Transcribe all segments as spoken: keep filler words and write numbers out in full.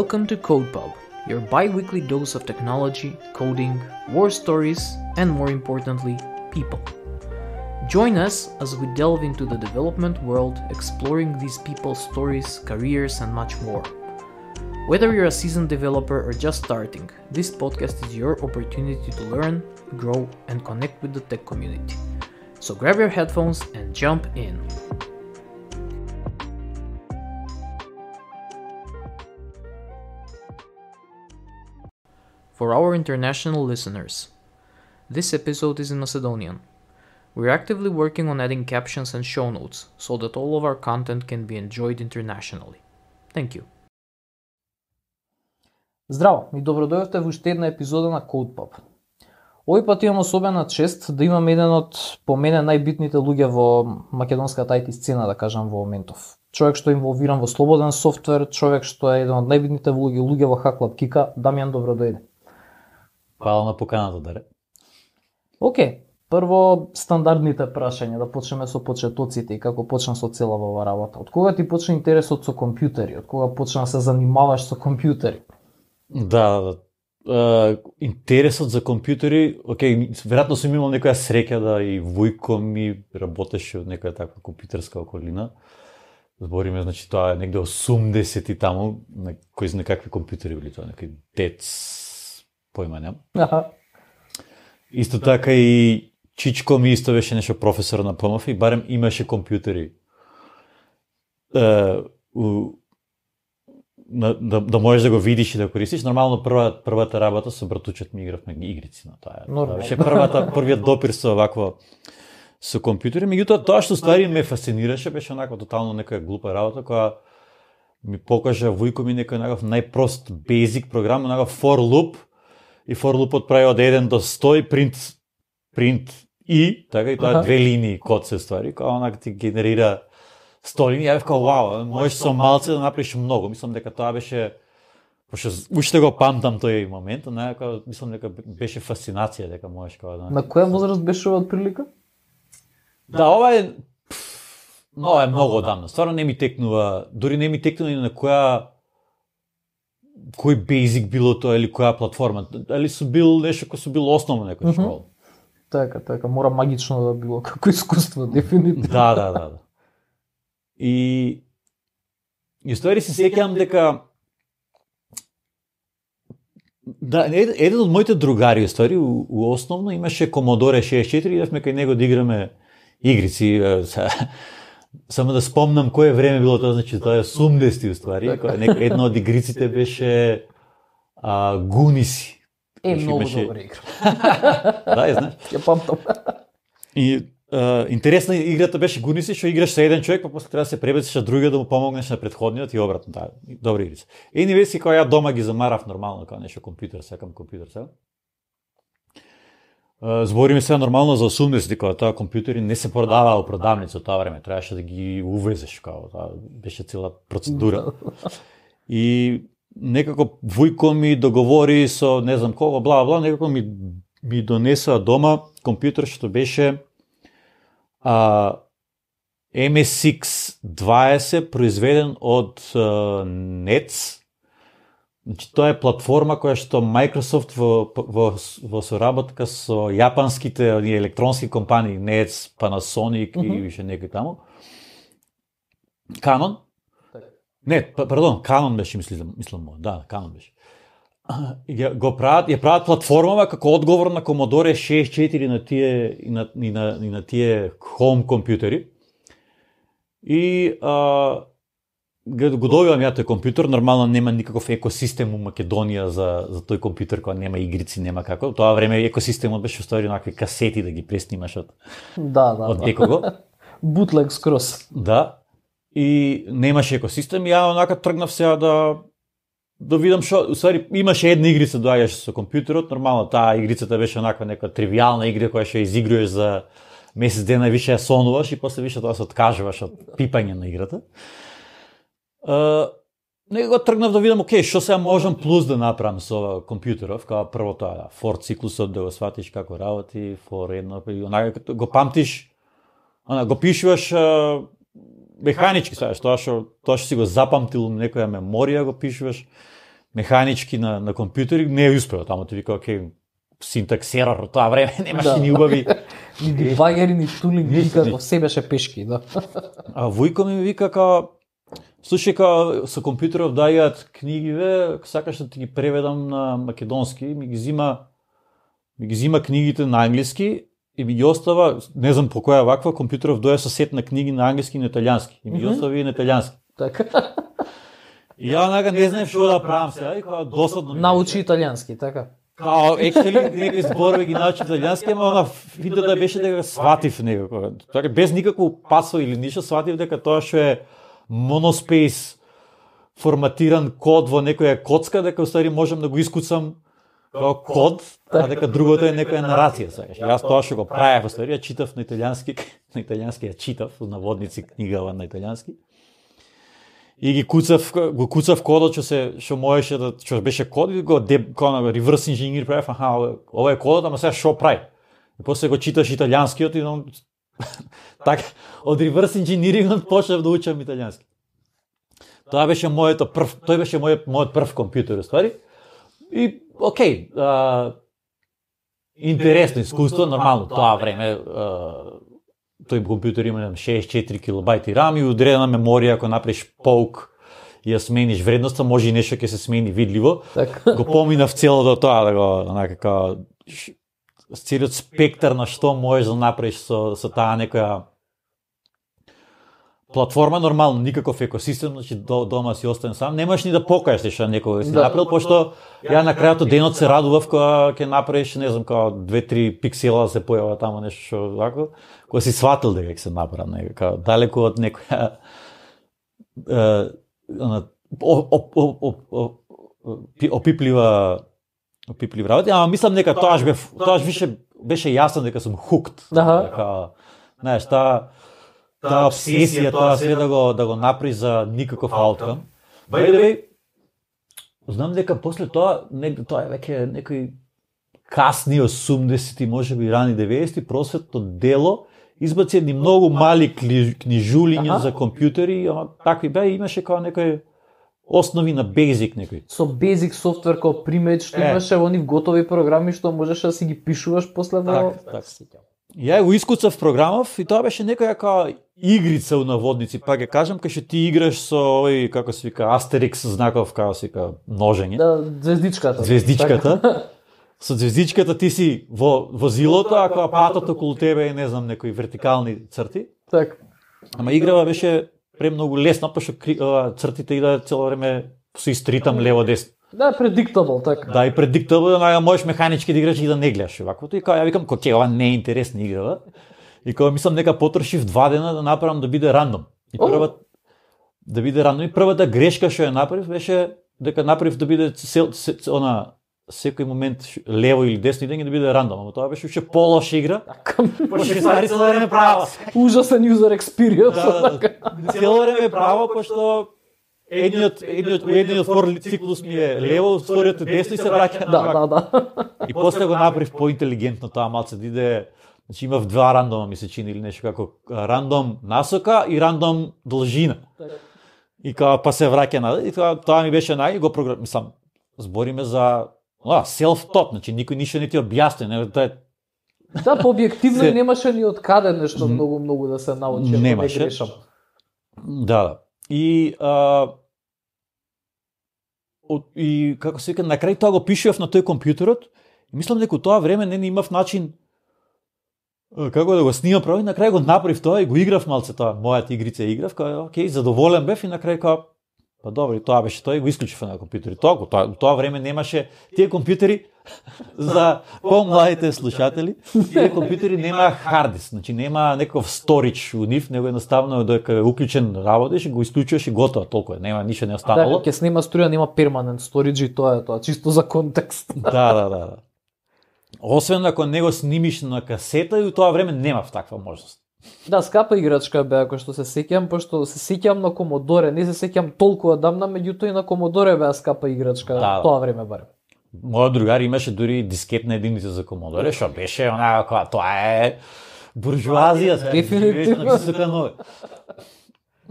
Welcome to CodePub, your bi-weekly dose of technology, coding, war stories, and more importantly, people. Join us as we delve into the development world, exploring these people's stories, careers, and much more. Whether you're a seasoned developer or just starting, this podcast is your opportunity to learn, grow, and connect with the tech community. So grab your headphones and jump in. For our international listeners, this episode is in Macedonian. We're actively working on adding captions and show notes so that all of our content can be enjoyed internationally. Thank you. Здраво и добро дојдовте во уште една епизода на CodePub. Овој пат имам особена чест да имам еден од по мене најбитните луѓе во македонската ай ти сцена, да кажам, во моментов. Човек што е инволвиран во слободен софтвер, човек што е еден од најбитните луѓе, луѓе во HackLab Kika. Дамјан, добро дојде. Хвала на поканата, Даре. Океј, прво стандардните прашања, да почнеме со почетоците и како почна со целава ова работа. Од кога ти почна интересот со компјутери? Од кога почна да се занимаваш со компјутери? Да, да. Uh, интересот за компјутери, окей, веројатно сум имал некоја среќа да и војко ми работеше од некоја таква компјутерска околина. Збориме, значи, тоа е негде осумдесети таму, на кои знае какви компјутери били тоа, некој ТЕЦ, појма нема. Аха. Исто така и чичко ми исто беше нешто професор на ПМФ и барем имаше компјутери. Uh, у На, да, да можеш да го видиш и да користиш. Нормално прва, првата работа со братучот ми игравме игрици на тоа. Тоа беше првата првиот допир со вакво со компјутери. Меѓутоа тоа што ствари ме фасцинираше беше онаква тотално некоја глупа работа која ми покажа војко ми некој наков најпрост basic програм, наков for loop и for loopот прави од еден до сто и print print и така и тоа uh-huh. две линии код се ствари, која онак ти генерира сто линии. Ја бев као, вау, можеш со малце да направиш многу. Мислам дека тоа беше, пошто уште го памтам тој момент, некако, мислам дека беше фасцинација дека можеш као да... На која возраст беше ова прилика? Да, ова е... Ова е многу одамна. Стварно не ми текнува, дури не ми текнува и на која... кој basic било тоа или која платформа. Дали су бил нешто кој су бил основно некој школа. Така, така, мора магично да било како искуство, дефинитивно. Да, да, да, да. И и ствари се сеќавам дека да, еден од моите другари, ствари, у, у основно имаше Commodore шеесет и четири и идевме кај него да играме игрици. Само да спомнам кое време било тоа, значи тоа е осумдесети ствари, кога една од игриците беше а, Гуниси. Е, многу добра игра. Да, ја знаеш. Ја памтам. И Uh, интересна играта беше Гуниси, што играш со еден човек, па после треба да се пребациш на другиот да му помогнеш на претходниот и обратно, да, добра игрица. Ени веси кога ја дома ги замарав нормално, како нешто компјутер, секам компјутер сега. Uh, збориме сега нормално за осумдесети, кога тоа компјутери не се продаваа во продавница од тоа време, требаше да ги увезеш, како тоа беше цела процедура. И некако војко ми договори со не знам кого, бла бла, некако ми ми донесоа дома компјутер што беше Uh, Ем Ес Икс дваесет произведен од uh, Нец. Значи тоа е платформа која што Microsoft во во во соработка со јапанските оние електронски компании Нец, Panasonic mm-hmm. и више некои таму. Canon? Не, пардон, Canon беше мислам, мислам, да, Canon беше. Ја го прават, ја прават платформава како одговор на Commodore шеесет и четири на тие и на и на, и на тие home компјутери. И а, го добивам ја тој компјутер, нормално нема никаков екосистем у Македонија за за тој компјутер, кој нема игрици, нема како. Тоа време екосистемот беше устари онакви касети да ги преснимаш од да, да, од некого. Bootleg скрос. Да. И немаше екосистем, ја онака тргнав сега да да видам што, усвари имаше една игрица доаѓаше со компјутерот, нормално таа игрицата беше онаква нека тривијална игра која што изигруваш за месец дена и више ја сонуваш и после више тоа се откажуваш од пипање на играта. Uh, Него тргнав да видам, окей, што сега можам плюс да направам со ова компјутеров, као прво тоа, for циклусот да го сватиш како работи, for едно, и онака го памтиш, она го пишуваш uh, механички, саеш, тоа што тоа што си го запамтил некоја меморија го пишуваш. механички на на компјутери, не е успео, таму ти вика окей, синтакс ерор, тоа време немаше да. Ни убави ни дебагери, ни тулинг, никако, се беше пешки, да. А Војко ми вика као слушај, као со компјутеров дајат книгиве, сакаш да ти ги преведам на македонски, ми ги зима ми ги зима книгите на англиски и ми ги остава, не знам по која ваква, компјутеров доја со сет на книги на англиски и на италијански. И ми ги остава и на италијански. Така. И ја онака не знаев што да правам сега, и као досадно. Научи италијански, така. Као екстали некои зборови ги научи италијански, ама она финтата беше дека сватив него. Така без никакво пасо или ништо сватив дека тоа што е monospace форматиран код во некоја коцка, дека уствари можам да го искуцам како код, а дека другото е некоја нарација, сакаш. Јас тоа што го правев, уствари, ја читав на италијански, на италијански ја читав, на водници книгава на италијански. И ги куцав, го куцав кодот што се што можеше да што беше код и го деб кона реверс инженер правев, аха, ова е кодот, ама сега што прави? И после го читаш италијанскиот и он така од реверс инженерингот почнав да учам италијански. Тоа беше моето прв, тој беше мојот мојот прв компјутер, уствари. И окей, а, интересно искуство, нормално тоа време, а, тој компјутер има шеесет и четири килобајти рам и одредена меморија, ако направиш поук и ја смениш вредноста, може и нешто ќе се смени видливо. Так. Го поминав целото тоа, да го, онака, као, целиот спектар на што можеш да направиш со, со таа некоја платформа, нормално, никаков екосистем, значи до, дома си остан сам, немаш ни да покажеш што некој си да. Направил, пошто ја на крајот од денот се радував кога ќе направиш, не знам, као две-три пиксела да се појава таму нешто што вако, кога си сватил дека ќе се направи, нека, као далеку од некоја е, она опиплива опиплив работи, ама мислам дека тоаш бе тоаш више беше јасно дека сум хукт. Дека, знаеш, таа таа обсесија, тоа све да го да го направи за никаков ауткам. By the way, знам дека после тоа, не, тоа е веќе некои касни осумдесети, можеби рани деветдесети, просветно дело избаци едни многу мали книжулиња за компјутери, ама такви беа, имаше као некој основи на Basic некој. Со Basic софтвер како примеј што е. Имаше они готови програми што можеш да си ги пишуваш после во... Так, так. Ја го искуцав програмов и тоа беше некоја као игрица у наводници, па ќе кажам, кај што ти играш со овој, како се вика, Астерикс знаков, како се вика, ножење. Да, звездичката. Звездичката. Со звездичката ти си во возилото, а кога патот околу тебе е, не знам, некои вертикални црти. Так. Ама играва беше премногу лесна, пошто цртите иде цело време со истритам лево-десно. Да, предиктабл, така. Да, и предиктабл, да можеш механички да играш и да не гледаш оваквото. И као ја викам, кој ова не е интересна играва. И кога мислам нека потрошив два дена да направам да биде рандом. И прва да биде рандом и првата грешка што ја направив беше дека направив да биде сел, се, она секој момент лево или десно идење да биде рандом, ама тоа беше уште полоша игра. Пошто ствари цело време право. Ужасен user experience. Да, да, цело време право, пошто едниот едниот едниот фор циклус ми е лево, вториот е десно и се враќа на. Да, да, да. И после го направив поинтелигентно тоа малце да иде, значи имав два рандома ми се чини или нешто како рандом насока и рандом должина. И као па се враќа на и тоа, тоа ми беше нај го програм, мислам, збориме за а, self-taught, значи никој ништо не ти објасни, не тоа е. Да, по објективно се... немаше ни од каде нешто многу многу да се научи, немаше. Не грешам. Да, да. И а, и како се вика, на крај тоа го пишував на тој компјутерот и мислам дека тоа време не имав начин како да го снимам право и на крај го направив тоа и го играв малце тоа, мојата игрица играв, као окей, задоволен бев и на крај као па добро, и тоа беше тоа и го исклучив на компјутери. Тоа, тоа, тоа време немаше тие компјутери за помладите слушатели, тие компјутери нема хард диск, значи нема некој сторидж у нив, него едноставно дека е уклучен работиш, го исклучуваш и готово, толку е, нема ништо не останало. Да, ќе снима струја, нема перманент сторидж и тоа е тоа, чисто за контекст. Да, да, да. Освен ако не го снимиш на касета и у тоа време немав таква можност. Да, скапа играчка беа, кој што се сеќам, пошто се сеќам на Комодоре, не се сеќам толку одамна, меѓутоа и на Комодоре беа скапа играчка, да, тоа време барем. Мојот другар имаше дури дискетна единица за Комодоре, што беше онака, тоа е буржуазија, дефинитивно.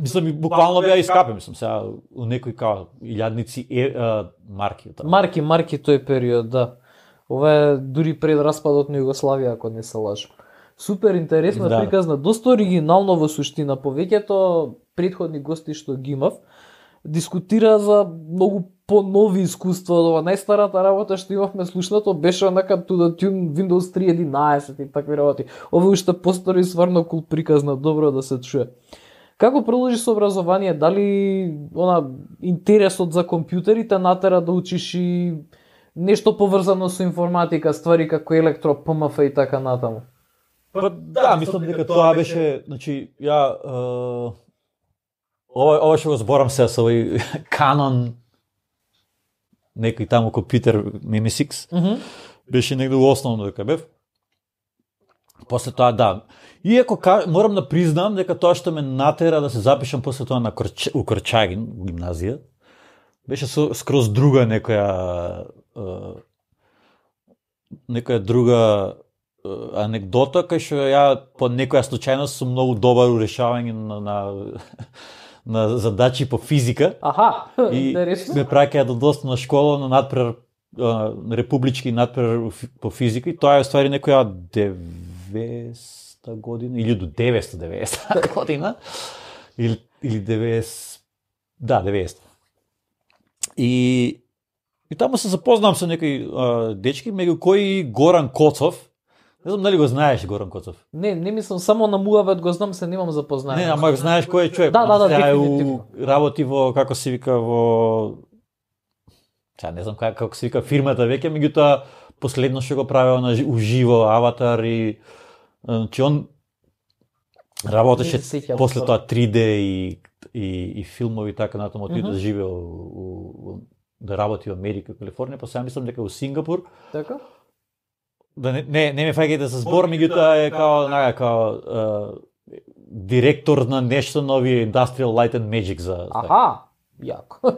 Мислам, буквално беа искапе, мислам, сега у некои као илјадници е, а, марки. Таа. Марки, марки тој период, да. Ова е дури пред распадот на Југославија, ако не се лажам. Супер интересно Да. приказна, доста оригинално во суштина. Повеќето претходни гости што ги имав, дискутира за многу понови искуства од ова. Најстарата работа што имавме слушнато беше онака to the tune Windows три единаесет и такви работи. Ова уште постари сварно кул приказна, добро да се чуе. Како продолжи со образование? Дали она интересот за компјутерите натера да учиш и нешто поврзано со информатика, ствари како електро, П М Ф и така натаму? Па да, мислам дека тоа беше, значи, ја е, ова ова што го зборам се со овој Canon некој таму компјутер М С Икс. Mm -hmm. Беше негде во основно дека бев. После тоа да. Иако ка, морам да признам дека тоа што ме натера да се запишам после тоа на Корч... у Корчагин, у гимназија, беше со скроз друга некоја е, некоја друга анекдота, кај што ја по некоја случајност сум многу добар у решавање на, на, на задачи по физика. Аха, и интересно. ме праќаја до доста на школа на надпрер републички надпрер по физика и тоа е ствари некоја деветста година или до деветста деветдесета година или или деветдесет да деветдесета. И и таму се запознавам со некои а, дечки, меѓу кои Горан Коцов. Не знам дали го знаеш Горан Коцов. Не, не мислам, само на муавет го знам, се немам запознање. Не, ама знаеш кој е човек. Да, да, да, Сега е дефинитивно. у- Работи во, како се вика, во... Сега не знам как, како се вика фирмата веќе, меѓутоа последно што го правел на жи- уживо Аватар и... Значи он работеше Не се сеќавам, после стварно. тоа три Д и, и, и филмови и така натаму, отиде Мгм. да живее у, у, у- да работи во Америка, Калифорнија, па сега мислам дека у Сингапур. Така? Да не не, не ме фаќајте за збор, меѓутоа е као наја као е, директор на нешто нови Industrial Light and Magic за, за Аха, јако.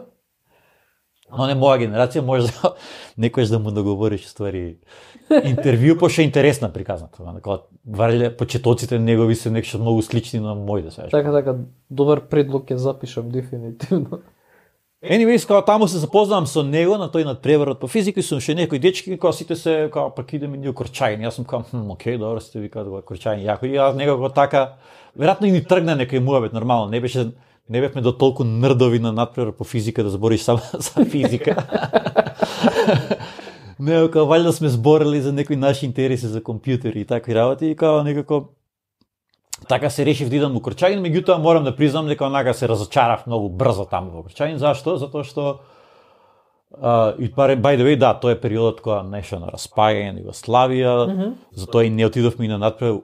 но не моја генерација може да некојаш да му договориш ствари интервју, пошто е интересна приказната. Као вареле почетоците негови се нешто многу слични на моите сега. Така, така, добар предлог ќе запишам дефинитивно. Anyways, као таму се запознавам со него на тој надпреварот по физика и сум ше некои дечки, као сите се као пак идеме ние у Корчагин. Јас сум као, хм, окей, добро сте викаат во Корчагин, јако. И јас некако така, веројатно и ни тргна некој муабет нормално, не беше не бевме до толку нрдови на надпревар по физика да збориш само за физика. Не, као валјда сме зборели за некои наши интереси за компјутери и такви работи и као некако така се решив да идам во Корчагин, меѓутоа морам да признам дека онака се разочарав многу брзо таму во Корчагин. Зашто? Затоа што а, и паре by the way, да, тоа е периодот кога нешто на распаѓање на Југославија, Мгм. затоа и не отидовме и на надпревар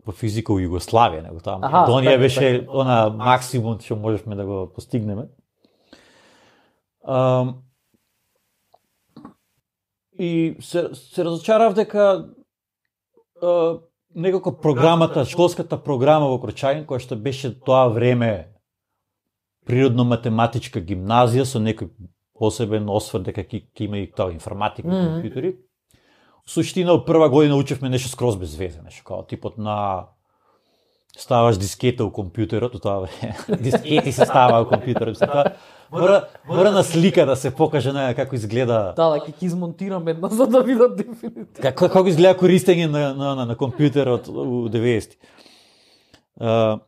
по физика у Југославија, него таа Аха, Македонија така, беше така. она максимум што можевме да го постигнеме. Um, и се, се разочарав дека uh, некако програмата, школската програма во Корчагин, која што беше тоа време природно-математичка гимназија со некој посебен осврт дека ќе ќе има и тоа информатика и Мгм. компјутери. Суштина, од прва година учевме нешто скроз без везе, нешто као типот на ставаш дискета у компјутерот, у тоа време дискети се става у компјутерот. Тоа мора мора на слика да се покаже на како изгледа. Да, да, ќе ќе измонтирам една за да видат дефинитивно. Како како изгледа користење на на на, на компјутерот у деветдесети. Uh,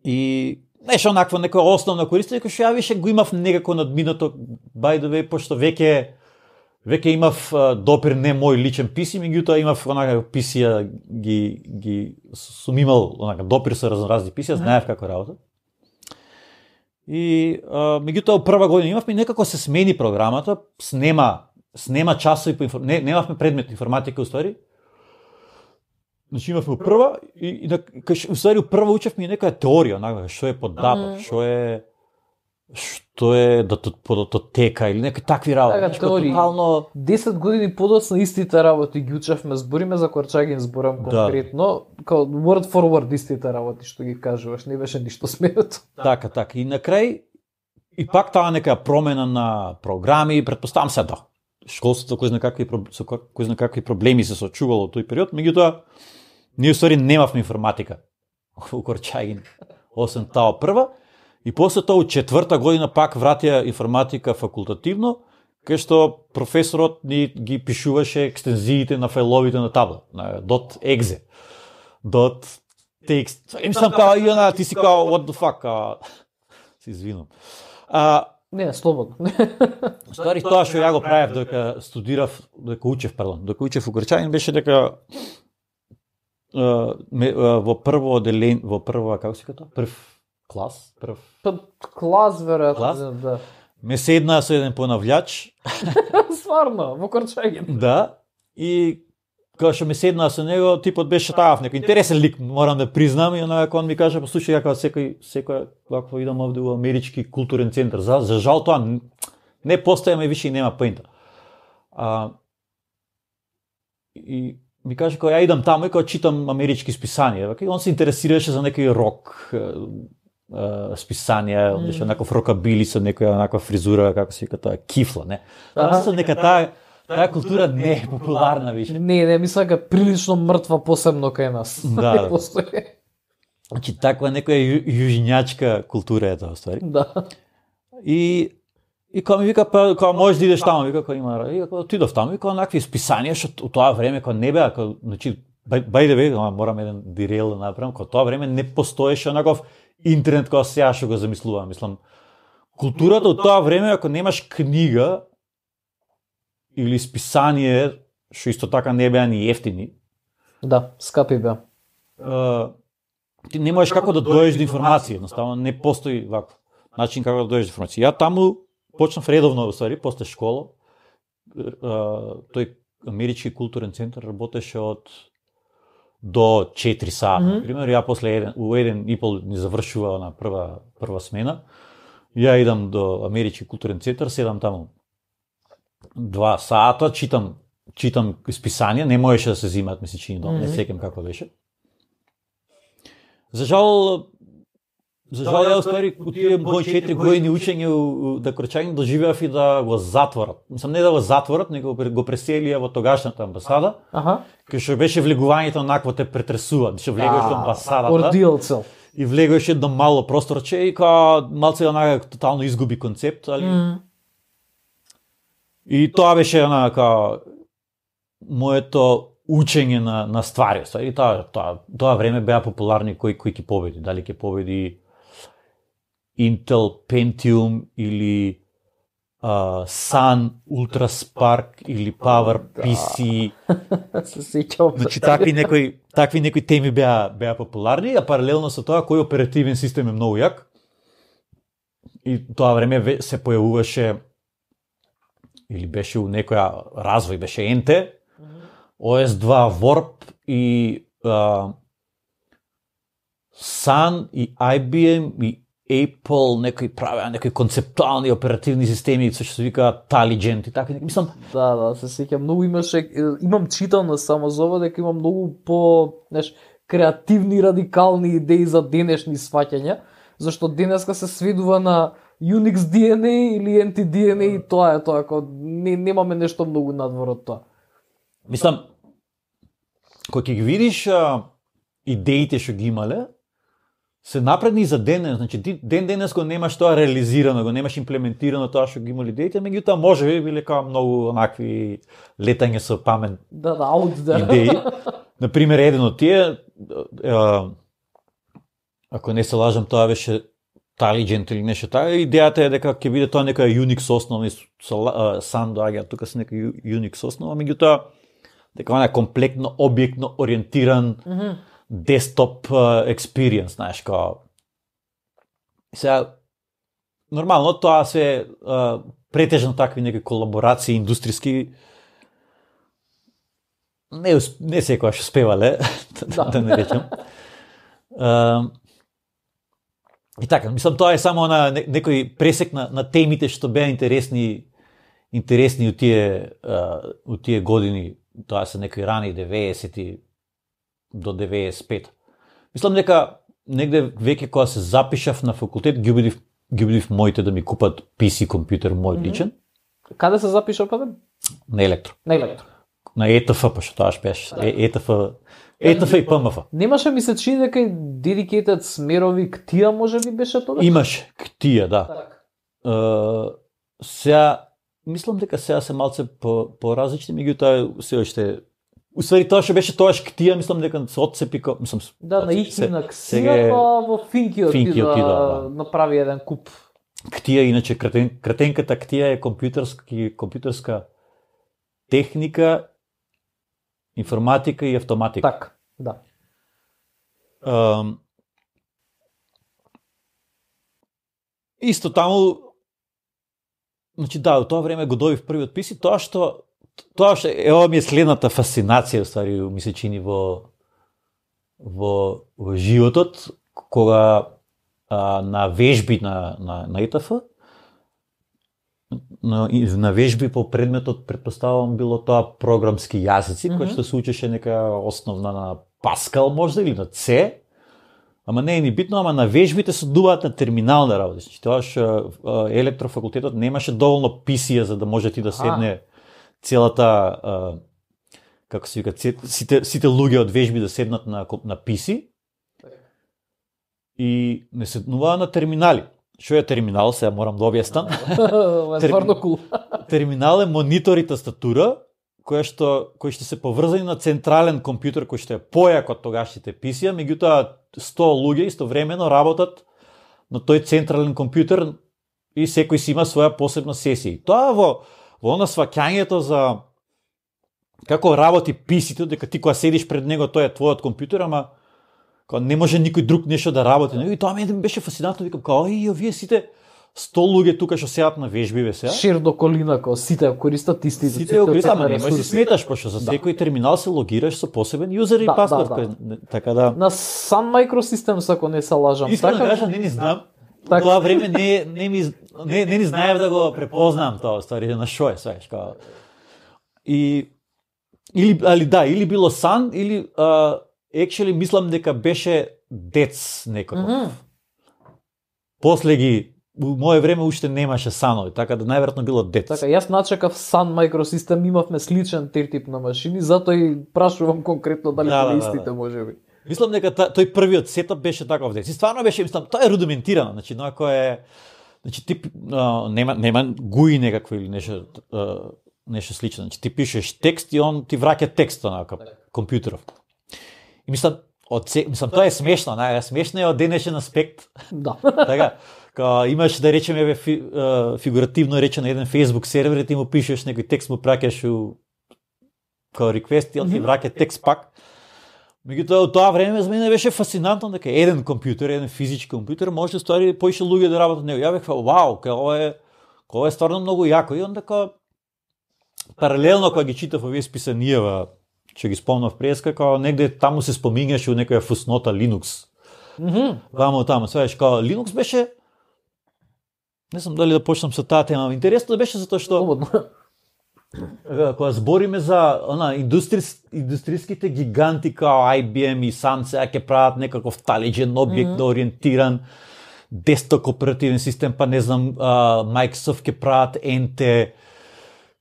и нешто онакво некоја основна користење кој што ја више го имав некако надминато by the way, пошто веќе веќе имав а, допир не мој личен пи си, меѓутоа имав онака пи си-ја ги ги сум имал онака допир со разноразни пи си-ја, знаев како работат. И а, меѓутоа прва година имавме и некако се смени програмата, снема снема часови по инфор... не немавме предмет информатика уствари. Значи имавме прва и, и на кај уствари прва учевме и некоја теорија, онака што е податок, што е што е датотека или некои такви работи. Така, Значи, теории. тотално десет години подоцна истите работи ги учевме, збориме за Корчагин, зборам Да. конкретно, као word for word истите работи што ги кажуваш, не беше ништо сменето. така, така. И на крај и пак таа нека промена на програми, претпоставам се да. Школството кој знае какви проб- со кој кој знае какви проблеми се соочувало во тој период, меѓутоа ние ствари немавме информатика у Корчагин. осем тао прва, и после тоа у четврта година пак вратија информатика факултативно, кај што професорот ни ги пишуваше екстензиите на фајловите на табла, на .exe, .txt. Им сам као, и она, ти си као, what the fuck, а... се извинам. А, Не, слободно. Ствари тоа што ја го правев додека студирав, додека учев, пардон, додека учев у Грчанин беше дека uh, ме, uh, во прво оделен, во прва, како се ката? Прв клас, прв клас веројатно, клас? Да. Ме седна со еден понављач. Стварно, во Корчагин. Да, и кога што ме седна со него, типот беше таав некој интересен лик, морам да признам, и она кога он ми каже, послушај, ја секој секој вакво идам овде во Амерички културен центар. За, за жал тоа не постојаме више и нема поинта. А, и ми каже кога ја идам таму и кога читам амерички списанија, и он се интересираше за некој рок списанија, mm. беше некој рокабили со некоја онаква фризура, како се вика тоа, кифла, не. Тоа се нека таа таа култура не е популарна више. Не, не, мисля дека прилично мртва посебно кај нас. Да. Не постои. Значи таква некоја ју, јужњачка култура е тоа ствари. Да. И и кога ми вика па кога можеш да идеш таму, вика кога има, и кога отидов таму, вика онакви списанија што у тоа време кога не беа, кога значи by the way, морам еден дирел да направам, кога тоа време не постоеше онаков интернет кога сега што го замислувам. Мислам, културата од тоа време, ако немаш книга или списание, што исто така не беа ни ефтини. Да, скапи беа. Ти не можеш како да дојдеш до информација, едноставно не постои вакво начин како да дојдеш до информација. Ја таму почнав редовно, ствари, после школа. Тој Амерички културен центар работеше од до четири сата, mm -hmm. пример, ја после еден, у еден и пол ни завршува на прва прва смена. Ја идам до Амерички културен центар, седам таму два сата, читам читам списанија, не можеше да се зимаат, ми се чини, mm -hmm. не сеќам како беше. За жал За жал, ја успари у тие мои четири години учење да Корчагин доживеав и да го затворат. Мислам, не да го затворат, него го преселија во тогашната амбасада, Аха. кај што беше влегувањето онакво те претресува, што влегуваш во амбасадата. Ордил цел. И влегуваш едно мало просторче и као малце онака тотално изгуби концепт, али. Mm. И тоа беше она као моето учење на на ствари, и тоа тоа тоа време беа популарни кои кои ќе победи, дали ќе победи Intel Pentium или uh, Sun Ultra Spark или Power пи си. Се сеќавам. Значи такви некои такви некои теми беа беа популарни, а паралелно со тоа кој оперативен систем е многу јак. И тоа време се појавуваше или беше у некоја развој, беше ен те, о ес два Warp и uh, Sun и ай би ем и Apple, некои правеа некои концептуални оперативни системи, што се вика Taligent и така, мислам. Да, да, се сеќам, многу имаше, имам читано само за ова дека има многу по, знаеш, креативни, радикални идеи за денешни сваќања, зашто денеска се сведува на Unix ди ен ей или ен ти ди ен ей и тоа е тоа, ако не, немаме нешто многу надвор од тоа. Мислам, кога ќе ги видиш а, идеите што ги имале, се напредни за ден, значи ден денес го немаш тоа реализирано, го немаш имплементирано тоа што ги имали идеите, меѓутоа може би биле као многу онакви летање со памет. Да, да, аут да. Идеи. Например, еден од тие, а, ако не се лажам, тоа беше Taligent или нешто така, идејата е дека ќе биде тоа некоја Unix основа, Sun доаѓа тука со некоја Unix основа, меѓутоа дека она е комплектно, објектно ориентиран mm -hmm. десктоп експириенс, знаеш, као. Сега, нормално, тоа се uh, претежно такви некои колаборации индустријски не, не секојаш успевале, да, да не речем. Uh, и така, мислам, тоа е само на некој пресек на, на темите што беа интересни интересни у тие, uh, у тие години, тоа се некои рани деветесети до деветдесет и пет. Мислам дека негде веќе кога се запишав на факултет, ги убедив, ги убедив моите да ми купат пи си компјутер, мој личен. Каде се запишав, па? На Електро. На Електро. на Е Т Ф, па што тоа беше, Е Т Ф, Е Т Ф и П М Ф. Немаше ми се чини дека и dedicated смерови ктија може би беше тоа? Имаше ктија, да. Так. Uh, сега, мислам дека сега се малце по, по-различни, меѓутоа се уште Уствари тоа што беше тоаш ктија, мислам дека се отцепи, мислам. Да, на их на ксија, па во Финки отида, да, направи еден куп. Ктија, иначе кратен, кратенката ктија е компјутерски компјутерска техника, информатика и автоматика. Так, да. Um, исто таму, значи да, во тоа време го добив првиот писи, тоа што Тоа што е ова ми е следната фасцинација, ствари, ми се чини во во, во животот, кога а, на вежби на на на Е Т Ф, на, на вежби по предметот претпоставувам било тоа програмски јазици, mm-hmm. кој што се учеше нека основна на Паскал можда или на С, ама не е ни битно, ама на вежбите се дуваат на терминална работа. Значи тоа што електрофакултетот немаше доволно писија за да може ти да седне целата, а, како се вика, сите, сите луѓе од вежби да седнат на, на писи и не седнуваа на терминали. Што е терминал, сега морам да објаснам. Стварно кул. Терминал е монитор и тастатура, која што, кои што се поврзани на централен компјутер, кој што е појак од тогашните писија, меѓутоа сто луѓе истовремено работат на тој централен компјутер и секој си има своја посебна сесија. Тоа во во она сваќањето за како работи писито, дека ти кога седиш пред него, тој е твојот компјутер, ама кога не може никој друг нешто да работи. И тоа ми беше фасцинантно, викам, као, и овие сите сто луѓе тука што седат на вежби, бе сега. Шир до колина, као сите користат истите. Сите го користат, ама не можеш да сметаш, пошто за секој да. терминал се логираш со посебен јузер и да, паспорт. Да, да. Така да... На Sun Microsystems, ако не се лажам. Искам да кажам, не ни знам. Так. Тоа време не не ми не не ни знаев да го препознам тоа, ствари на шо е, сваќаш као. И или али да, или било Сан или uh, actually мислам дека беше Дец некој. Mm -hmm. После ги во мое време уште немаше Sanoви, така да најверојатно било Дец. Така, јас начекав Sun Microsystem, имавме сличен тип на машини, затоа и прашувам конкретно дали да, да, истите да. можеби. Мислам дека тој првиот сетап беше таков дец. И стварно беше, мислам, тоа е рудиментирано, значи, но ако е значи ти а, нема нема гуи некакво или нешто а, нешто слично. Значи ти пишеш текст и он ти враќа текстот на компјутеров. И мислам, од се, мислам тоа е смешно, нај смешно е од денешен аспект. Да. Така, кога имаш да речеме еве фи, фигуративно речено еден Facebook сервер и ти му пишеш некој текст, му праќаш у као request и он ти враќа текст пак. Меѓутоа, од тоа време за мене беше фасцинантно дека еден компјутер, еден физички компјутер може да ствари поише луѓе да работат на него. Ја бев, вау, као ова е, ова е стварно многу јако. И онда као паралелно кога ги читав овие списанијава, што ги спомнав преска, као негде таму се спомињаше у некоја фуснота Linux. Mm -hmm. Вамо таму, сваеш, као Linux беше, не знам дали да почнам со таа тема, интересно да беше затоа што кога збориме за она индустрис, индустријските гиганти као Ай Би Ем и Sun сега ќе прават некаков талиџен објектно mm-hmm. ориентиран десктоп оперативен систем, па не знам, uh, Microsoft ќе прават Ен Те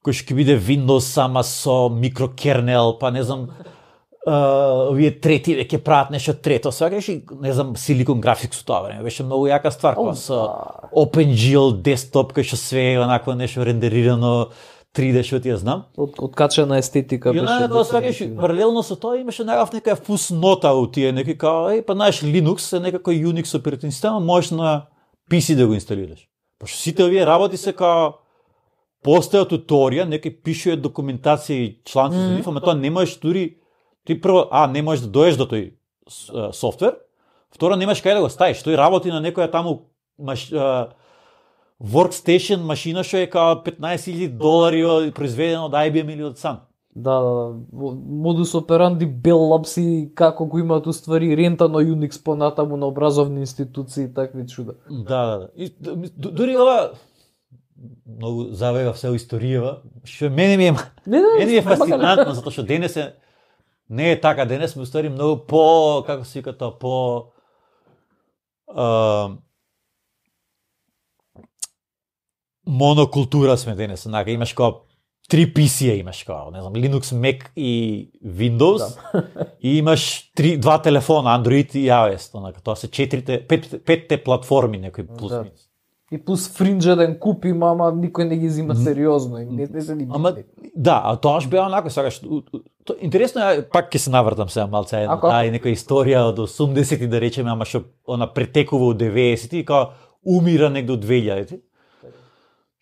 кој ќе биде Windows сама со микрокернел, па не знам, uh, овие трети ќе прават нешто трето. Сега не знам, Silicon Graphics у тоа време беше многу јака ствар, oh, со OpenGL десктоп кој што све е онакво нешто рендерирано три Д, што ти ја знам. Од откачена естетика беше. И тоа сваќаш, паралелно со тоа имаше некаква некоја фуснота у тие, некој као, еј, па знаеш, Linux е некој Unix оперативен систем, можеш на Пи Си да го инсталираш. Пошто сите овие работи се као постоја туторија, некој пишува документација и чланци mm. за нив, ама тоа не можеш дури ти прво, а, не можеш да доеш до тој а, софтвер, второ немаш кај да го ставиш, тој работи на некоја таму маш, а, workstation машина што е као петнаесет илјади долари произведена од Ай Би Ем или од Sun. Да, да, да. Модус операнди Bell Labs и како го имаат уствари рентано Unix понатаму на образовни институции и такви чуда. Да, да, да. И, дури ова многу завега се историјава, што мене ми е не, не, мене ми е фасцинантно затоа што денес е не е така, денес сме уствари многу по, како се вика тоа, по а, монокултура сме денес, онака имаш кој три пи си-а имаш, као, не знам, Linux, Mac и Windows, да. И имаш три, два телефона, Android и iOS, онака, тоа се четирите, пет, петте платформи, некои плюс да. минус. И плюс фринџ еден куп има, ама никој не ги зима сериозно, и не, не се ни ама, да, а тоа ж беа онако, сакаш, интересно е, пак ќе се навртам сега малце, една, таа и некоја историја од осумдесети да речеме, ама што она претекува од деветдесети и као умира негде од двејаѓади.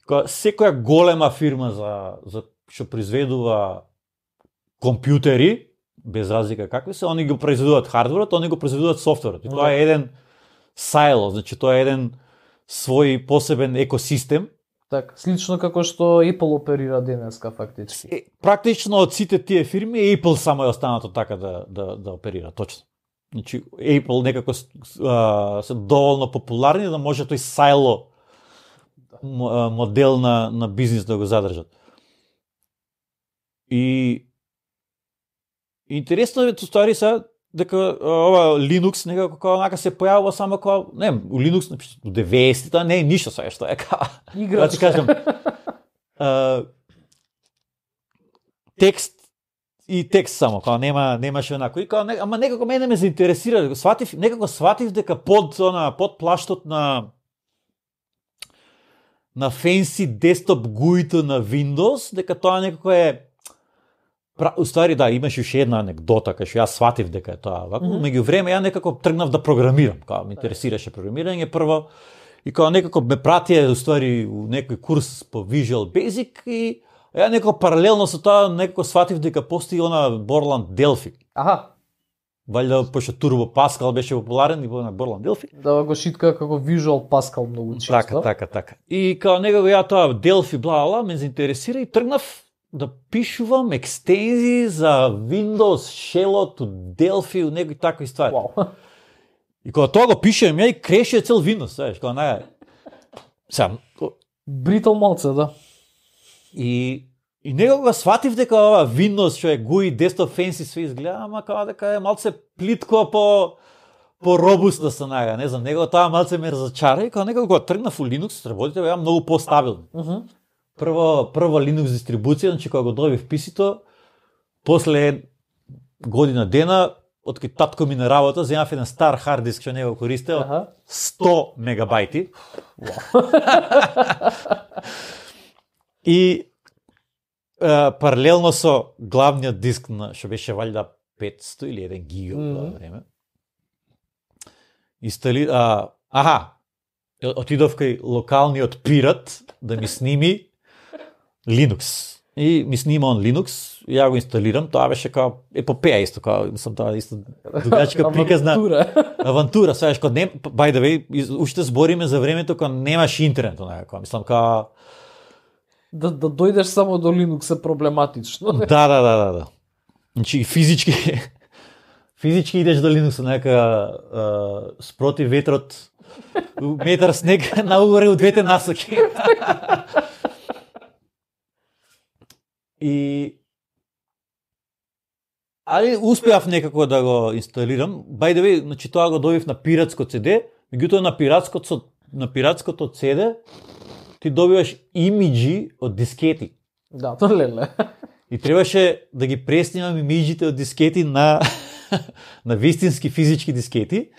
Као секоја голема фирма за за што произведува компјутери, без разлика какви се, они го произведуваат хардверот, они го произведуваат софтверот. И тоа е еден сайло, значи тоа е еден свој посебен екосистем. Так, слично како што Apple оперира денеска фактички. Е, практично од сите тие фирми Apple само е останато така да да да оперира, точно. Значи Apple некако а, се доволно популарни да може тој сайло модел на на бизнис да го задржат. И интересно е ствари се дека ова Linux некако како онака се појавува само како, не, у Linux у деветдесетите не е ништо сега што е како. Играч. Да ти кажам. а, текст и текст само, како нема немаше онако. И како, ама некако мене ме заинтересира, сватив, некако сватив дека под она под плаштот на на фенси десктоп гуито на Windows, дека тоа некако е Уствари, да, имаш уште една анекдота, кај што јас сватив дека е тоа ваку, mm -hmm. меѓу време ја некако тргнав да програмирам, као ме интересираше програмирање прво, и као некако ме пратија уствари у некој курс по Visual Basic и ја некако паралелно со тоа некако сватив дека постои она Borland Delphi. Аха. Валјда пошто Turbo Pascal беше популарен и на Borland Delphi. Да го шитка како Visual Pascal многу често. Така, така, така. И као некако ја тоа Delphi бла бла ме заинтересира и тргнав да пишувам екстензии за Windows, Shell-от, Delphi, некои такви ствари. Wow. И кога тоа го пишем, ја и креше цел Windows, знаеш, кога наја... Сам... Бритал малце, да. И, и некога сватив дека ова Windows, што е джи ю I, Desktop Fancy, све изгледа, ама кога дека е малце плитко по... по робустно се наја, не знам, некога тоа малце ме разочара и кога некога го тргнав у Linux, работите беа многу по-стабилни. Uh -huh. Прво, прво Linux дистрибуција, значи кога го добив писито, после година дена, откај татко ми на работа, земав еден стар хард диск што не го користел, uh-huh. сто мегабајти. И е, паралелно со главниот диск на што беше валјда петсто или еден гига mm-hmm. во тоа време. Инстали а аха, отидов кај локалниот пират да ми сними Linux. И ми снима он Linux, и ја го инсталирам, тоа беше као епопеја исто, као мислам тоа исто дугачка приказна авантура. Авантура, саеш кога не by the way, уште збориме за времето кога немаш интернет, онака, мислам као да да дојдеш само до Linux е проблематично. Да, да, да, да, да. Значи физички физички идеш до Linux, онака спроти ветрот метар снег наугоре од двете насоки. И али успеав некако да го инсталирам. By the way, значи тоа го добив на пиратско си ди, меѓутоа на пиратското на пиратското си ди ти добиваш имиџи од дискети. Да, тоа леле. И требаше да ги преснимам имиџите од дискети на на вистински физички дискети.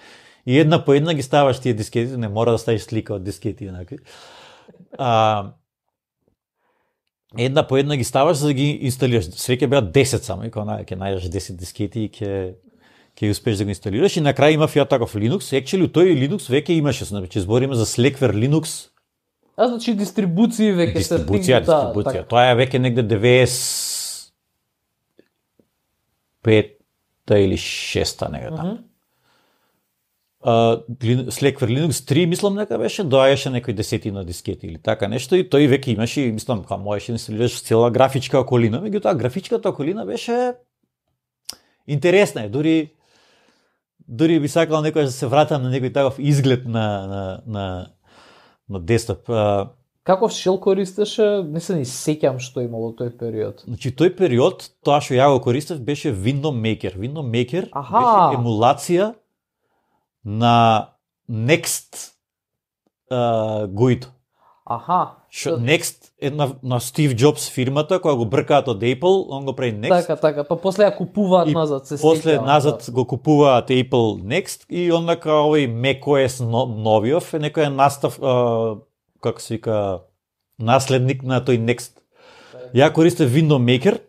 И една по една ги ставаш тие дискети, не мора да ставиш слика од дискети еднакви. А една по една ги ставаш за да ги инсталираш. Свеќе беа десет само, и кога ќе најдеш десет дискети и ќе ќе успееш да го инсталираш. И на крај имав ја таков Linux. Actually, тој Linux веќе имаше, значи збориме за Slackware Linux. А значи дистрибуции веќе се дистрибуција, дистрибуција. Да, тоа е веќе негде деветдесет и пета или шеста нега таму. Uh, Slackware Linux три, мислам дека беше, доаѓаше некој десетина дискети или така нешто и тој веќе имаше, мислам, кога можеше да инсталираш цела графичка околина, меѓутоа графичката околина беше интересна, дури дури би сакал некој да се вратам на некој таков изглед на на на на десктоп. Uh, Каков shell користеше? Не се ни сеќам што имало тој период. Значи тој период, тоа што ја го користев беше Window Maker. Window Maker Аха. беше емулација на Next uh, джи ю I. Аха. Шо, Next е на, на Стив Джобс фирмата, која го бркаат од Apple, он го прави Next. Така, така, па после ја купуваат и назад, се после стекава, назад да. го купуваат Apple Next и ондака овој macOS новиов е некој настав, а, како се вика, наследник на тој Next. Ја користев Window Maker,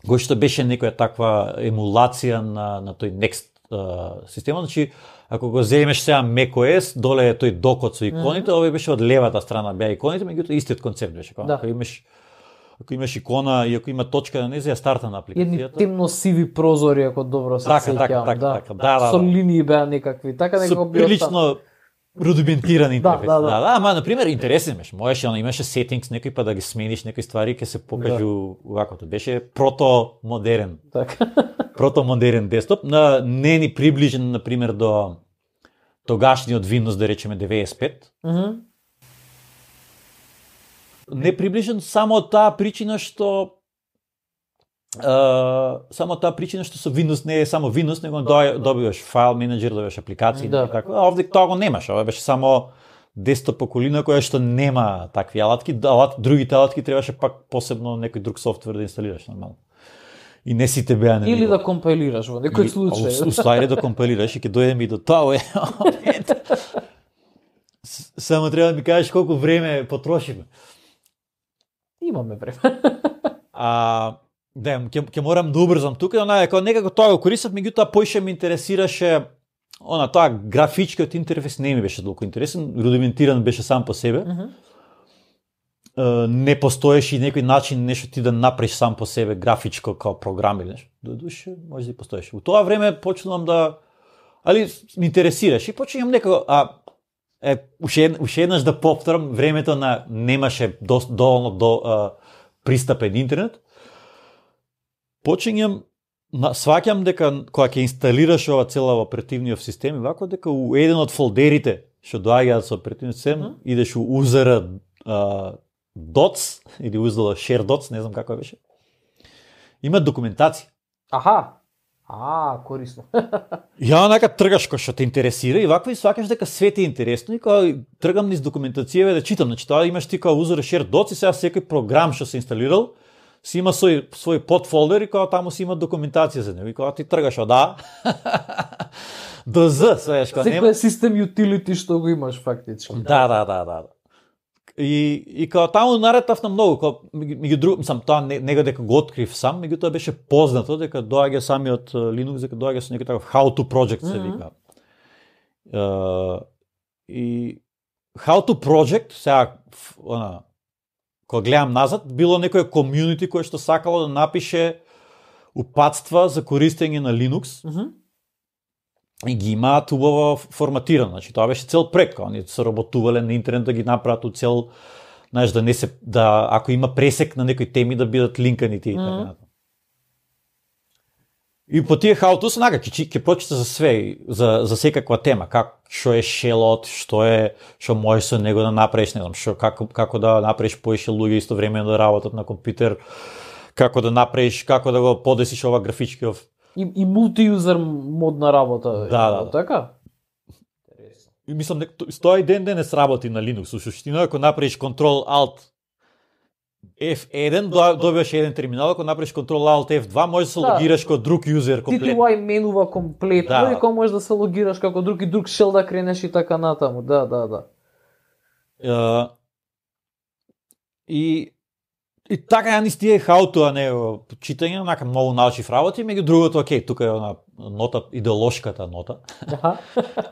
кој што беше некоја таква емулација на, на тој Next uh, система. Значи, ако го земеш сега macOS, доле е тој докот со иконите, mm -hmm. овој беше од левата страна беа иконите, меѓутоа истиот концепт беше. Да. Ако имаш ако имаш икона и ако има точка на незе, ја старта на апликацијата. Едни темно сиви прозори, ако добро се сеќавам. Така, така, да. така, да, да, Со да. линии беа некакви, така некако би прилично рудиментиран интерфейс. Да, да, да. да, да, ама на пример интересен беше. Можеше, она имаше settings некои па да ги смениш некои ствари, ќе се покажу да. Вакото. Беше прото-модерен. Така. Прото-модерен десктоп, на не ни приближен на пример до тогашниот Windows, да речеме деветдесет и пет. Мм. Mm-hmm. Не приближен само од таа причина што Uh, само таа причина што со Windows не е само Windows, него добиваш файл менеджер, добиваш апликации да. и така. А овде тоа го немаш, ова беше само десктоп околина која што нема такви алатки, алат, другите алатки требаше пак посебно некој друг софтвер да инсталираш нормално. И не сите беа на или него. да компилираш во некој случај. Уствари да компилираш и ќе дојдеме и до тоа. Само треба да ми кажеш колку време потрошиме. Имаме време. А да, ќе ќе морам да убрзам тука, она е како некако тоа го користев, меѓутоа поише ме интересираше она тоа графичкиот интерфейс не ми беше толку интересен, рудиментиран беше сам по себе. Mm-hmm. Uh, не постоеше и некој начин нешто ти да направиш сам по себе графичко као програм или нешто. До душе може да и постоеше. У тоа време почнувам да али ме интересираш и почнувам некако а е уште уште еднаш да повторам, времето на немаше доволно до а, пристапен интернет. Почињам, сваќам дека кога ќе инсталираш ова цела оперативниот систем, вако дека у еден од фолдерите што доаѓаат со оперативниот систем, mm -hmm. идеш у узера uh, dots или узела share dots, не знам како беше. Има документација. Аха. А, корисно. Ја онака тргаш кој што те интересира и вакво и сваќаш дека све ти е интересно и кога тргам низ документацијава да читам, значи тоа имаш ти кога узера share dots и сега секој програм што се инсталирал си има свој свој подфолдер и кога таму си има документација за него и кога ти тргаш од А до З, свееш кога нема. Секој систем utility што го имаш фактички. Да, да, да, да. И и кога таму наретав на многу, кога меѓу друг, сам тоа не, него дека го открив сам, меѓутоа беше познато дека доаѓа самиот Linux, дека доаѓа со некој таков how to project се вика. Mm-hmm. Uh, и how to project сега она кога гледам назад, било некој комјунити кое што сакало да напише упатства за користење на Linux. Mm-hmm. И ги имаат убаво форматирано. Значи тоа беше цел проект, они се работувале на интернет да ги направат у цел, знаеш, да не се да ако има пресек на некои теми да бидат линкани тие и така Mm-hmm. натаму. И по тие how to снака ќе ќе прочита за све, за за секаква тема, как што е шелот, што е што можеш со него да направиш, не знам, што како како да направиш поише луѓе истовремено да работат на компјутер, како да направиш, како да го подесиш ова графичкиов И, и мултиюзер модна работа. Да, да, да. Така? И мислам дека тоа и ден денес работи на Linux. Со суштина, ако направиш Control Alt F еден, добиваш еден терминал, ако направиш Control Alt F два, можеш да се Да. логираш како друг юзер комплетно. Ти ти менува комплетно Да. и кога можеш да се логираш како друг и друг шел да кренеш и така натаму. Да, да, да. Uh, и и така ја низ тие how-to, а не читање, онака многу научив работи, меѓу другото, окей, тука е она нота, идеолошката нота, Аха.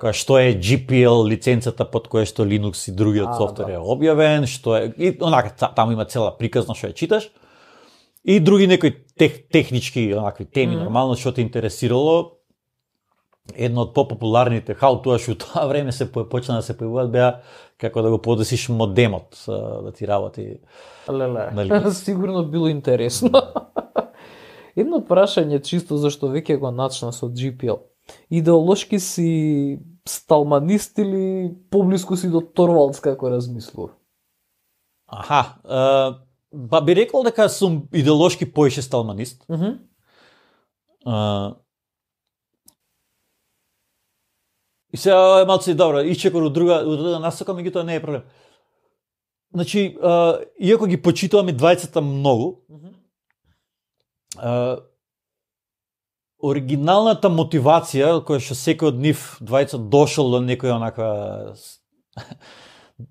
која што е G P L лиценцата под која што Linux и другиот А, софтвер да. е објавен, што е и онака таму има цела приказна што ја читаш. И други некои тех, технички онакви теми, Мгм. нормално што те интересирало. Едно од попопуларните how-to што у тоа време се по- почна да се појавуваат беа како да го подесиш модемот а, да ти работи. Леле, Нали? сигурно било интересно. Едно прашање чисто зашто веќе го начна со G P L. Идеолошки си сталманист или поблиску си до Торвалдс како размислува? Аха, а, ба би рекол дека сум идеолошки поише сталманист. Мгм. А, и сега е малце добро, исчекор од друга, од друга насока, меѓутоа не е проблем. значи, а, иако ги почитуваме двајцата многу, Мгм. а, оригиналната мотивација која што секој од нив двајца дошол до некоја онака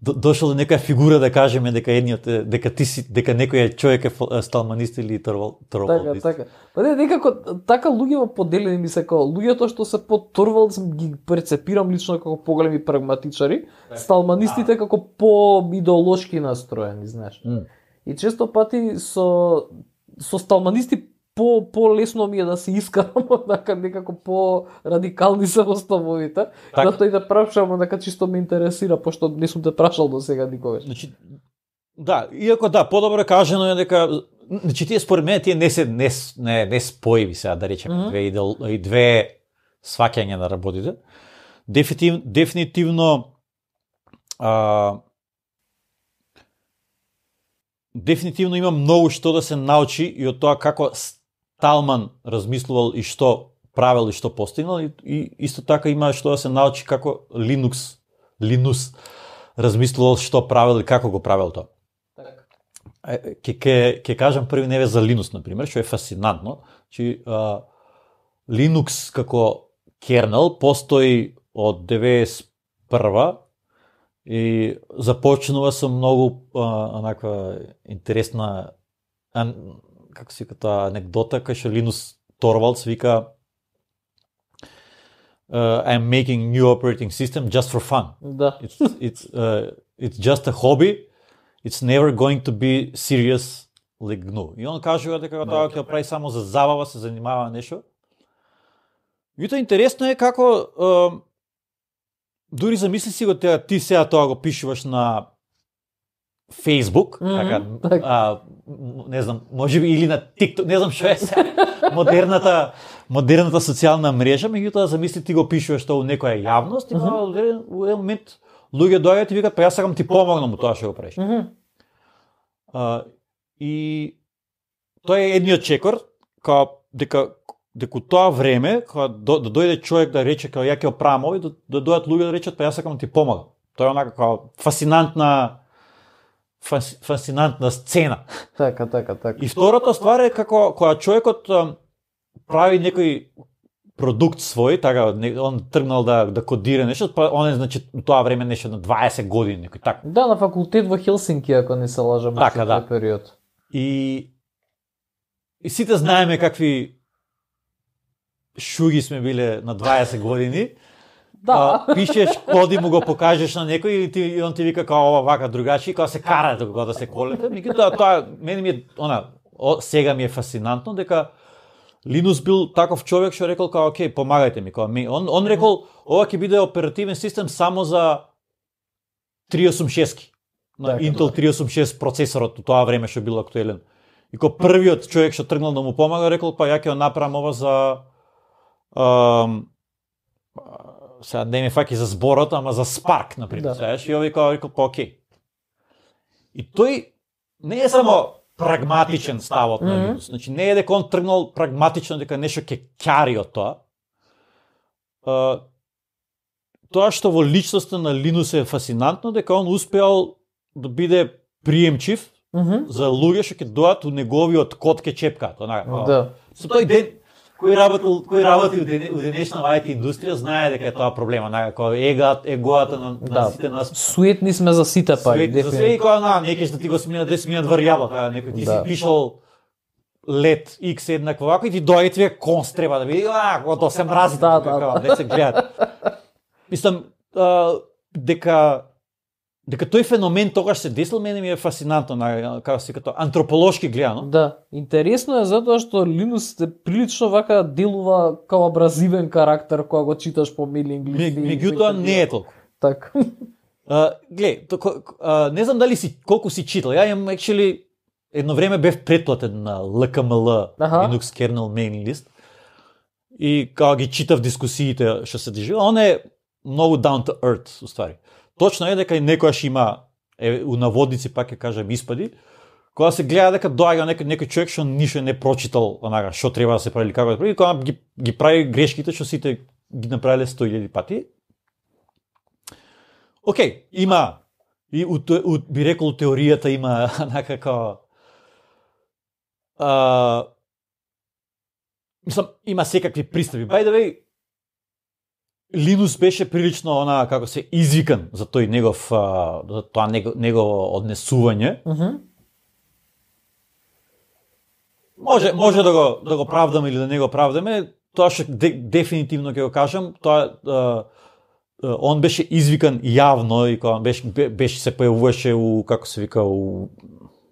до, дошол до некоја фигура да кажеме дека едниот е, дека ти си, дека некој човек е фо- сталманист или торвал Така, торвалист. така. Па не, некако така луѓето поделени ми се како луѓето што се по Торвалдс ги перцепирам лично како поголеми прагматичари, сталманистите како по идеолошки настроени, знаеш. М. И често пати со со сталманисти по по-лесно ми е да се искарам, однака некако по радикални се оставовите. Така. Затоа и да прашам, однака чисто ме интересира, пошто не сум те прашал до сега никогаш. Значи, да, иако да, подобро кажано е дека, значи тие според мене тие не се не с- не, не споиви сега да речеме Мгм. две идеол, и две сваќања на работите. Дефинитивно дефинитивно а, дефинитивно има многу што да се научи и од тоа како Сталман размислувал и што правел и што постигнал, и, и исто така има што да се научи како Linux Linus размислувал што правел и како го правел тоа. Е, Ке, ке, ке кажам први неве за Linux, например, што е фасцинантно. Чи, а, Linux како кернел постои од деветдесет и прва и започнува со многу а, онаква интересна ан, како се вика тоа анекдота, кај што Linus Torvalds вика uh, I'm making new operating system just for fun. Да. It's it's uh, it's just a hobby. It's never going to be serious like G N U. И он кажува дека тоа ќе прави само за забава, се занимава нешто. И тоа интересно е како е, дури замисли си го теа, ти сега тоа го пишуваш на Facebook, Мгм, така, така. а, м- не знам, можеби или на TikTok, не знам што е сега модерната модерната социјална мрежа, меѓутоа замисли ти го пишуваш тоа у некоја јавност и Мгм. во еден во еден момент луѓе доаѓаат и викаат па јас сакам ти помогнам у тоа што го правиш. Мгм. А, и тоа е едниот чекор, као дека дека у тоа време, кога до, да дојде човек да рече као ја ќе оправам ови, да, да дојдат луѓе да речат па јас сакам да ти помогам. Тоа е онака као фасцинантна фас, фасцинантна сцена. Така, така, така. И втората ствар е како кога човекот ам, прави некој продукт свој, така не- он тргнал да да кодира нешто, па он е значи у тоа време нешто на дваесет години, некој така. Да, на факултет во Хелсинки, ако не се лажам, Така, во да. тој период. И и сите знаеме какви шуги сме биле на дваесет години. Да. А, пишеш коди, му го покажеш на некој и, ти, и он ти вика као ова вака другачи, кога се карате кога да се колете. Меѓутоа тоа мене ми е она о, сега ми е фасцинантно дека Линус бил таков човек што рекол као окей, помагајте ми, као ми. Он он рекол ова ќе биде оперативен систем само за триста осум шест на Така, Intel триста осум шест процесорот у тоа време што бил актуелен. И ко првиот човек што тргнал да му помага рекол па ја ќе го направам ова за ам, сега не ме фаќа за зборот, ама за Spark, например. Да. Знаеш, и овој као рекол па окей. И тој не е само прагматичен ставот на Мгм. Linux. Значи не е дека он тргнал прагматично дека нешто ќе ќари од тоа. А, тоа што во личноста на Linus е фасцинантно, дека он успеал да биде приемчив Мгм. за луѓе што ќе дојат у неговиот код ке чепкаат, онака. као, Да. Со тој ден кој работил, кој работи у, ден, у денешна ай ти индустрија знае дека е тоа проблема, онака како егат, егоата на, на Да. сите нас. Суетни сме за сите пак, Свет, за све и дефинитивно. кога на некој што ти го смина десет минат варјаба, така некој ти Да. си пишал лет X еднакво вако и ти доаѓа ти ве конс треба да види, а, кога тоа се мрази, Да, така, да, да. не се гледат. Мислам а, дека дека тој феномен тогаш се десил, мене ми е фасцинантно, на како се като антрополошки гледано. Да, интересно е затоа што Линус е прилично вака делува као абразивен карактер кога го читаш по мейлинг Ме- листи. Меѓутоа не е толку. Така. А, глед, токо, а, не знам дали си колку си читал. Ја имам actually едно време бев претплатен на Л К М Л, Аха. Linux Kernel Mailing List. И кога ги читав дискусиите што се држи, он е многу down to earth, уствари. Точно е дека и некојаш има е, у наводници пак ќе кажам испади, кога се гледа дека доаѓа некој некој човек што ништо не прочитал, онака што треба да се прави или како да прави, и кога ги ги прави грешките што сите ги направиле сто илјади пати. Океј, има И у, у, би рекол теоријата има некако а, мислам, има секакви пристапи. By the way, Линус беше прилично она како се извикан за тој негов а, за тоа него, негово однесување. Uh -huh. Може може да го да го правдаме или да не го правдаме, тоа што де, дефинитивно ќе го кажам, тоа а, он беше извикан јавно и кога беше беше се појавуваше у како се вика у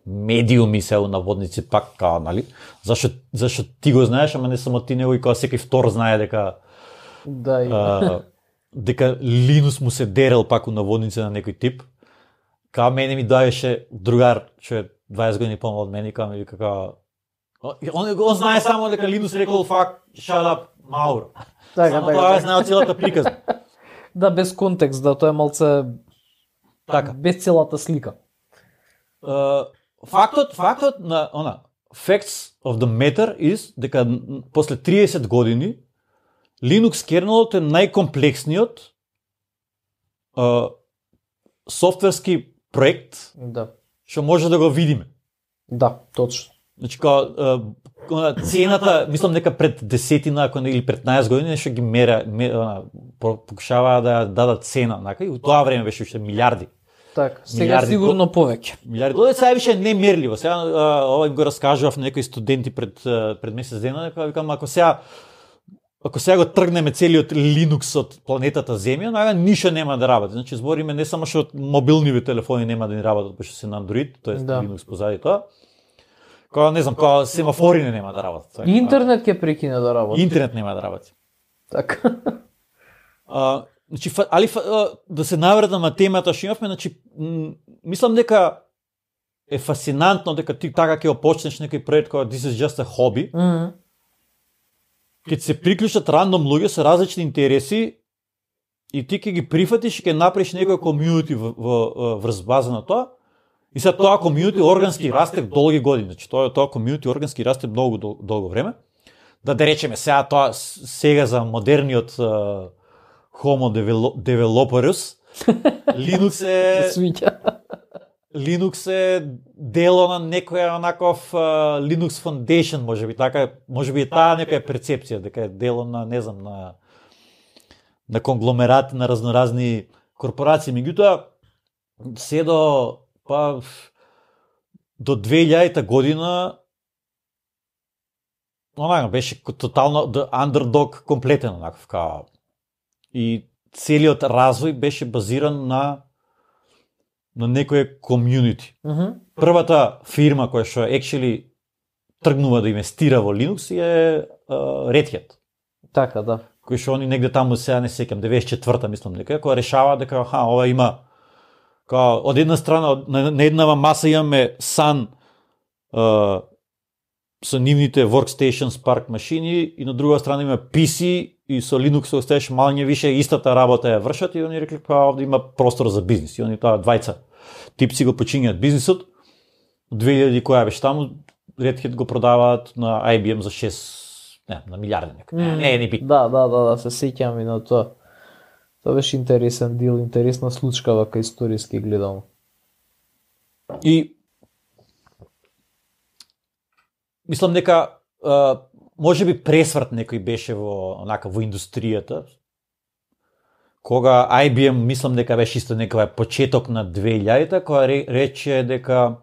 медиуми се у наводници пак као, нали? Зашто зашто ти го знаеш, ама не само ти, него и кога секој втор знае дека да и а, дека Линус му се дерел пак у наводници на некој тип. Као мене ми доаѓаше другар, што е дваесет години помал од мене, као ми вика као он, он знае само дека Линус рекол fuck, shut up, Мауро. Така, само така, тоа така. знае целата приказна. Да, без контекст, да, тоа е малце Така. без целата слика. Uh, фактот, фактот на она facts of the matter is дека после триесет години Linux кернелот е најкомплексниот uh, софтверски проект Да. што може да го видиме. Да, точно. Значи као uh, цената, мислам дека пред десетина ако не или петнаесет години нешто ги мера, мера покушаваа да дадат цена, нака и у тоа време беше уште милиарди. Така, сега Милиарди сигурно повеќе. Милиарди долари, сега више не мерливо. Сега а, ова им го раскажував на некои студенти пред пред месец дена, дека викам ако сега ако сега го тргнеме целиот Linux од планетата Земја, нага ништо нема да работи. Значи збориме не само што мобилнивите телефони нема да ни работат, пошто се на Android, тоест Да. Linux позади тоа. Кога не знам, кога семафори не нема да работат. Интернет ќе прекине да работи. Интернет нема да работи. Така. А, значи, фа, али фа, да се навредам на темата што имавме, значи, м, мислам дека е фасинантно дека ти така ќе опочнеш некој проект кој this is just a hobby, Мм. ќе се приклучат рандом луѓе со различни интереси и ти ќе ги прифатиш и ќе направиш некој комјунити во, во, во врз база на тоа. И сега тоа комјунити органски расте долги години, значи тоа тоа комјунити органски расте многу дол, долго време. Да да речеме сега тоа сега за модерниот uh, Homo developerus Linux е Свиќа. Linux е дело на некоја онаков uh, Linux Foundation, можеби така, можеби е таа некоја перцепција дека е дело на, не знам, на на конгломерат на разноразни корпорации, меѓутоа се до па до две илјадета година онака беше тотално the underdog комплетен онаков као и целиот развој беше базиран на на некое комјунити. Мгм. Првата фирма која што actually тргнува да инвестира во Linux е uh, Red Hat, Така, да. кој што они негде таму сега не сеќам деветдесет и четврта мислам дека која решава дека аха ова има као од една страна од- на, на еднава маса имаме Sun uh, со нивните workstation Spark машини и на друга страна има пи си и со Linux оставаш малње више истата работа ја вршат и они рекли па овде има простор за бизнис и они тоа двајца типци го почињаат бизнисот. две илјади која беше таму Red Hat го продаваат на ай би ем за шест не, на милиарди нека. Не, не, не би. Да, да, да, да, се сеќам и на тоа. Тоа беше интересен дел, интересна случка вака историски гледам. И мислам дека а, може би пресврт некој беше во онака во индустријата. Кога ай би ем мислам дека беше исто некој почеток на две илјадите, која ре, рече дека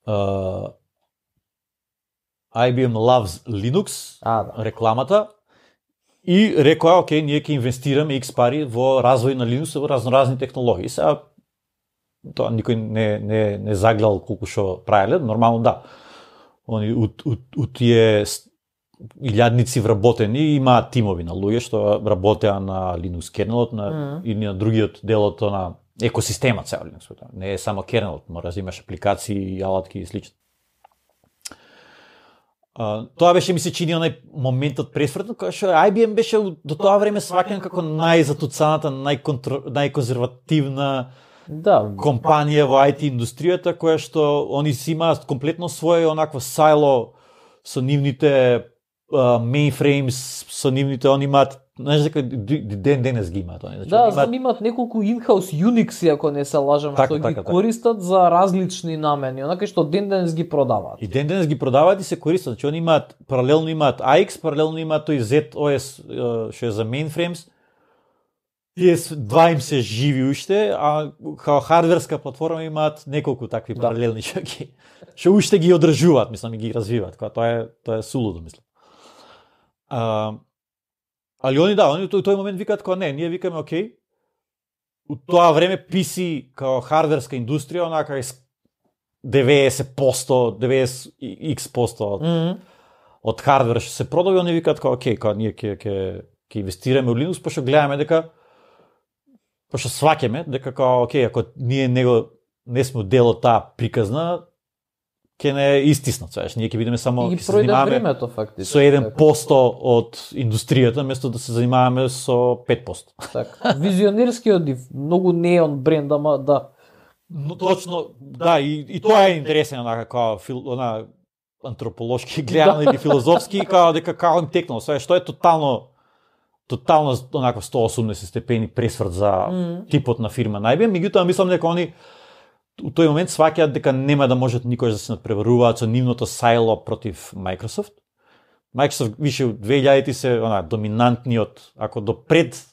а, ай би ем loves Linux, А, да. рекламата, и рекоа, окей, ние ќе инвестираме икс пари во развој на Linux во разноразни технологии. Сега тоа никој не не не загледал колку што правеле, нормално да. Они у, у, у тие с- илјадници вработени имаат тимови на луѓе што работеа на Linux кернелот на Мгм. или на другиот делот на екосистемот цел Linux. Не е само кернелот, мора да имаш апликации, алатки и слично. Uh, тоа беше ми се чини онај моментот пресвртно, кога што ай би ем беше до тоа време сваќан како најзатуцаната, најконтр... најконзервативна Да, компанија во ай ти индустријата, која што они си имаат комплетно своје онакво сайло со нивните uh, mainframes, со нивните, они имаат знаеш дека ден денес ги имаат они. Значи, да, знам имаат неколку in-house Unix, ако не се лажам, така, што така, ги користат така. За различни намени, онака што ден денес ги продаваат. И ден денес ги продаваат и се користат, значи они имаат паралелно имаат А Икс, паралелно имаат тој зет О Ес што е за mainframes. Тие два им се живи уште, а као хардверска платформа имаат неколку такви да. Паралелни што ги што уште ги одржуваат, мислам и ги развиваат, кога тоа е тоа е сулудо, мислам. А, али они да, они тој тој момент викаат кога не, ние викаме окей. У тоа време пи си као хардверска индустрија, онака е деветдесет проценти, деветдесет икс проценти од, mm -hmm. од хардвер што се продаде, они викаат кога окей, кога ние ќе ќе ќе инвестираме во Linux, пошто гледаме дека пошто сваќаме дека као окей, ако ние него не сме дел од таа приказна, ќе не истиснат, знаеш, ние ќе бидеме само ќе се занимаваме времето, со еден проценти од индустријата, место да се занимаваме со пет проценти. Така. Визионерски одив, многу неон бренд, ама да. Но точно, да, и, и тоа е интересен онака како фил, она антрополошки гледано или филозофски, како дека како им текнало, све што е тотално тотално онака сто и осумдесет степени пресврт за mm. типот на фирма најбе, меѓутоа мислам дека они у тој момент сваќаат дека нема да можат никош да се надпреваруваат со нивното сайло против Microsoft. Microsoft више у две илјадети се она доминантниот, ако до пред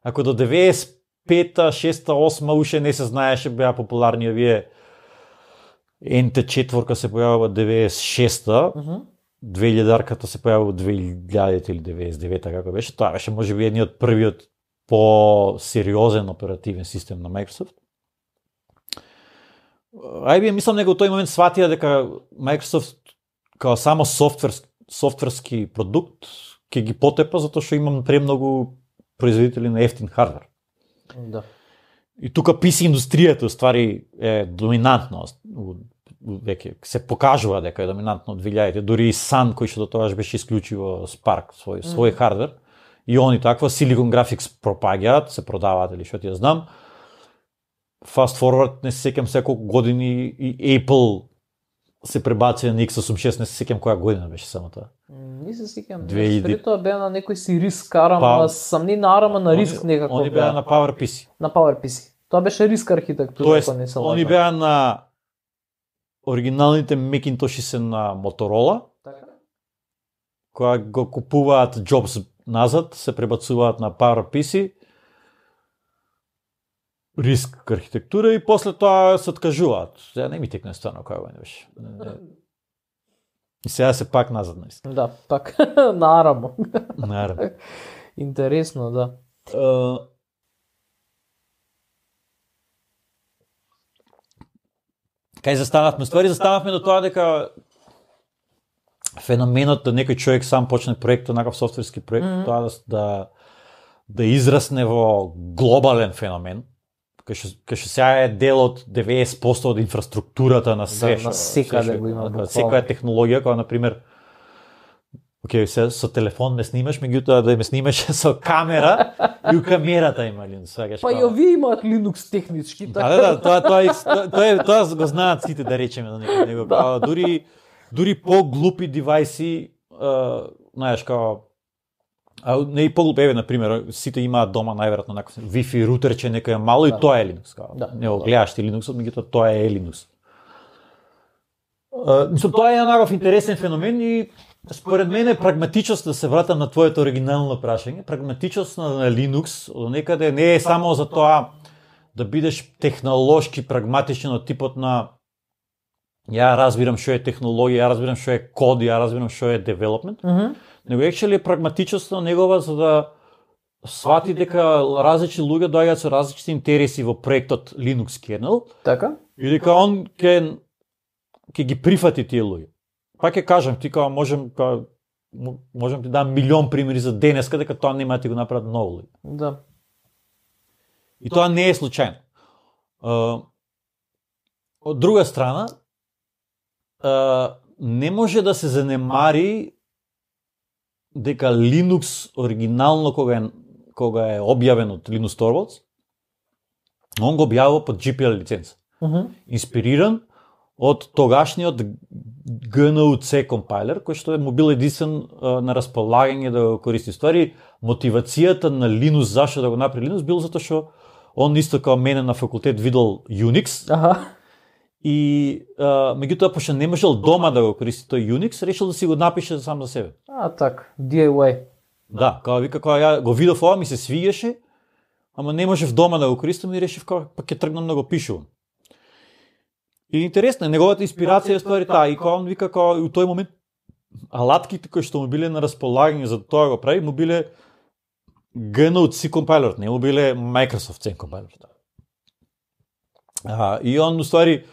ако до деветдесет и пета, шеста, осма уште не се знаеше, беа популарни овие Ен Те четврка се појавува деветдесет и шеста, mm -hmm. две илјадарката се појавува две илјадите или деветдесет и девета, како беше. Тоа беше можеби едниот првиот по-сериозен оперативен систем на Microsoft. Ай би мислам дека во тој момент сватија дека Microsoft као само софтверски, софтверски продукт ќе ги потепа затоа што имам премногу производители на ефтин хардвер. Да. И тука пи си индустријата ствари е доминантна, веќе се покажува дека е доминантна од две илјадите, дури и Sun кој што до тогаш беше исклучиво Spark свој свој mm. хардвер и они таква Silicon Graphics пропаѓаат, се продаваат или што ти ја знам. Fast forward, не се сеќам секолку години и Apple се пребаци на икс осумдесет и шест, не се сеќам која година беше само тоа. Не се сеќам. Пред тоа беа на некој си риск арама, па, сам не на арама на риск они, некако. Они беа на PowerPC. На PowerPC. Тоа беше риск архитектура, тоест, ако не се лажам. Они беа на оригиналните Macintosh се на Motorola. Така. Кога го купуваат Jobs назад, се пребацуваат на PowerPC. Риск архитектура и после тоа се откажуваат. Сега не ми текне стварно која го не беше. И сега се пак назад наистина. Да, пак на арамо. На арамо. Интересно, да. Uh, Кај застанавме? Ствари застанавме до тоа дека феноменот да некој човек сам почне проект, некаков софтверски проект, mm -hmm. тоа да, да да израсне во глобален феномен, кај што кај што сега е дел од деветдесет проценти од инфраструктурата на се, да, на секаде го има. Секоја технологија, која на пример окей, се со телефон ме снимаш, меѓутоа да ме снимаш со камера и у камерата има Linux, сваќаш. Па и овие имаат Linux технички, така. Да, да, тоа тоа тоа тоа тоа го знаат сите, да речеме на некој него. Да. Дури дури по-глупи девајси, знаеш, као а не и по-глупи, еве на пример, сите имаат дома најверојатно некој Wi-Fi рутерче некој мало да. И тоа е Linux, као. Да. Не го гледаш ти Linux, меѓутоа тоа е Linux. Мислам, тоа е еднаков интересен феномен и според мене прагматичност, да се вратам на твоето оригинално прашање, прагматичност на, на Linux од некаде не е само за тоа да бидеш технолошки прагматичен од типот на ја разбирам што е технологија, ја разбирам што е код, ја разбирам што е development, mm -hmm. него actually прагматичноста негова за да свати дека различни луѓе доаѓаат со различни интереси во проектот Linux kernel. Така? И дека он ќе ќе ги прифати тие луѓе. Пак ќе кажам, ти као можем као можам ти дам милион примери за денеска дека тоа нема да ти го направат многу луѓе. Да. И тоа не е случајно. Uh, од друга страна, uh, не може да се занемари дека Linux оригинално кога е кога е објавен од Linus Torvalds, он го објавува под джи пи ел лиценца. Uh -huh. Инспириран од тогашниот Джи Ен Ю си компайлер, кој што е му бил единствен на располагање да го користи. Ствари, мотивацијата на Linux, зашто да го направи Linux, бил затоа што он исто како мене на факултет видел Unix. Аха. И а, меѓутоа, пошто не можел дома да го користи тој Unix, решил да си го напише сам за себе. А, так, Ди Ай Уај. Да, као вика, кога ја го видов ова, ми се свигаше, ама не можев дома да го користам и решив као пак ќе тргнам да го пишувам. И интересно е, неговата инспирација е ствари таа, и кога он вика као у тој момент алатките кои што му биле на располагање за тоа го прави, му биле Джи Ен Ю си компайлер, не му биле Microsoft си компайлер. А, и он уствари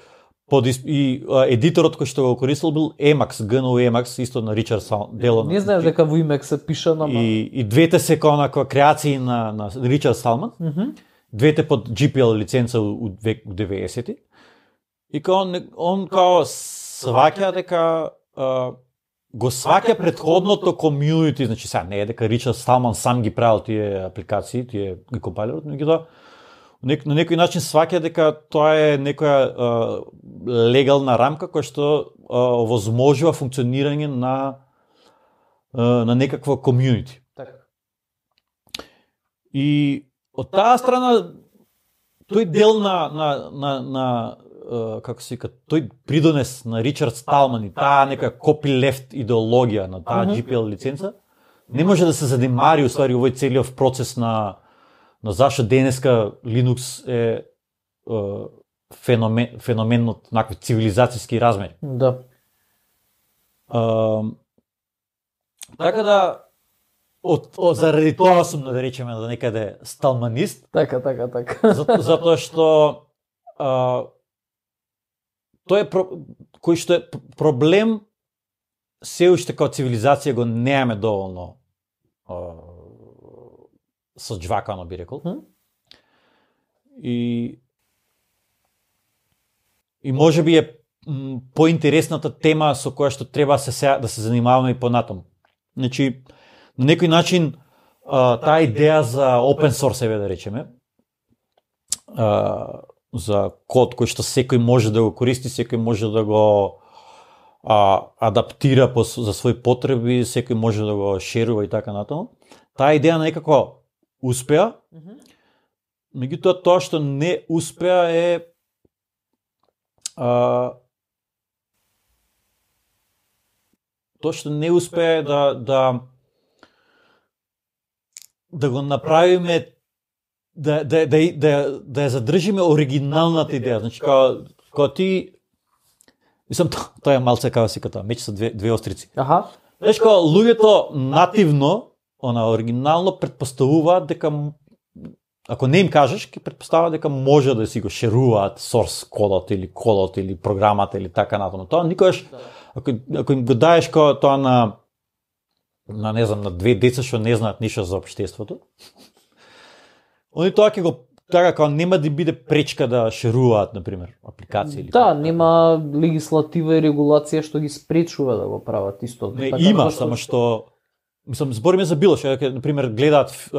под и а, едиторот кој што го користил бил Emacs, Джи Ен Ю Emacs, исто на Ричард Салман. Не знаеш дека во Emacs се пиша на и, и двете се као на креации на на Ричард Салман. Mm -hmm. Двете под Джи Пи Ел лиценца у деветдесети. И као он, он као сваќа дека а, го сваќа претходното комјунити, значи сега не е дека Ричард Салман сам ги правил тие апликации, тие ги компайлерот, но ги тоа на некој начин сваќа дека тоа е некоја а, легална рамка која што а, овозможува функционирање на а, на некакво комјунити. Така. И од таа страна тој дел на на на на како се вика, тој придонес на Ричард Сталман и таа нека copyleft идеологија на таа Джи Пи Ел лиценца не може да се задемари уствари овој целиот процес на на зашто денеска Linux е, е феномен феномен од накви цивилизацијски размери. Да. А, така да од, од заради тоа сум да речеме да некаде сталманист. Така, така, така. За, затоа што а, тој е про, кој што е проблем се уште како цивилизација го немаме доволно а, соџвакано би рекол. Hmm? И и можеби е м, поинтересната тема со која што треба се сега да се занимаваме и понатаму. Значи на некој начин а, таа идеја за open source еве да речеме, а, за код кој што секој може да го користи, секој може да го а, адаптира по, за своји потреби, секој може да го шерува и така натаму. Таа идеја некако успеа, Mm-hmm. меѓутоа тоа што не успеа е а, тоа што не успеа е да да да го направиме да да да да да ја задржиме оригиналната идеја. Значи кога кога ти мислам тоа е малце како се ката меч со две две острици. Аха. Знаеш кога луѓето нативно, она оригинално претпоставуваат дека ако не им кажеш, ќе претпоставуваат дека може да си го шеруваат source кодот или кодот или програмата или така натаму. Тоа никогаш ако ако им го даеш кога тоа на на не знам на две деца што не знаат ништо за општеството, они тоа ќе го така како нема да биде пречка да шеруваат на пример апликации или Да, нема легислатива и регулација што ги спречува да го прават исто. Не, така, има, зашто... само што мислам збориме за било што на пример гледаат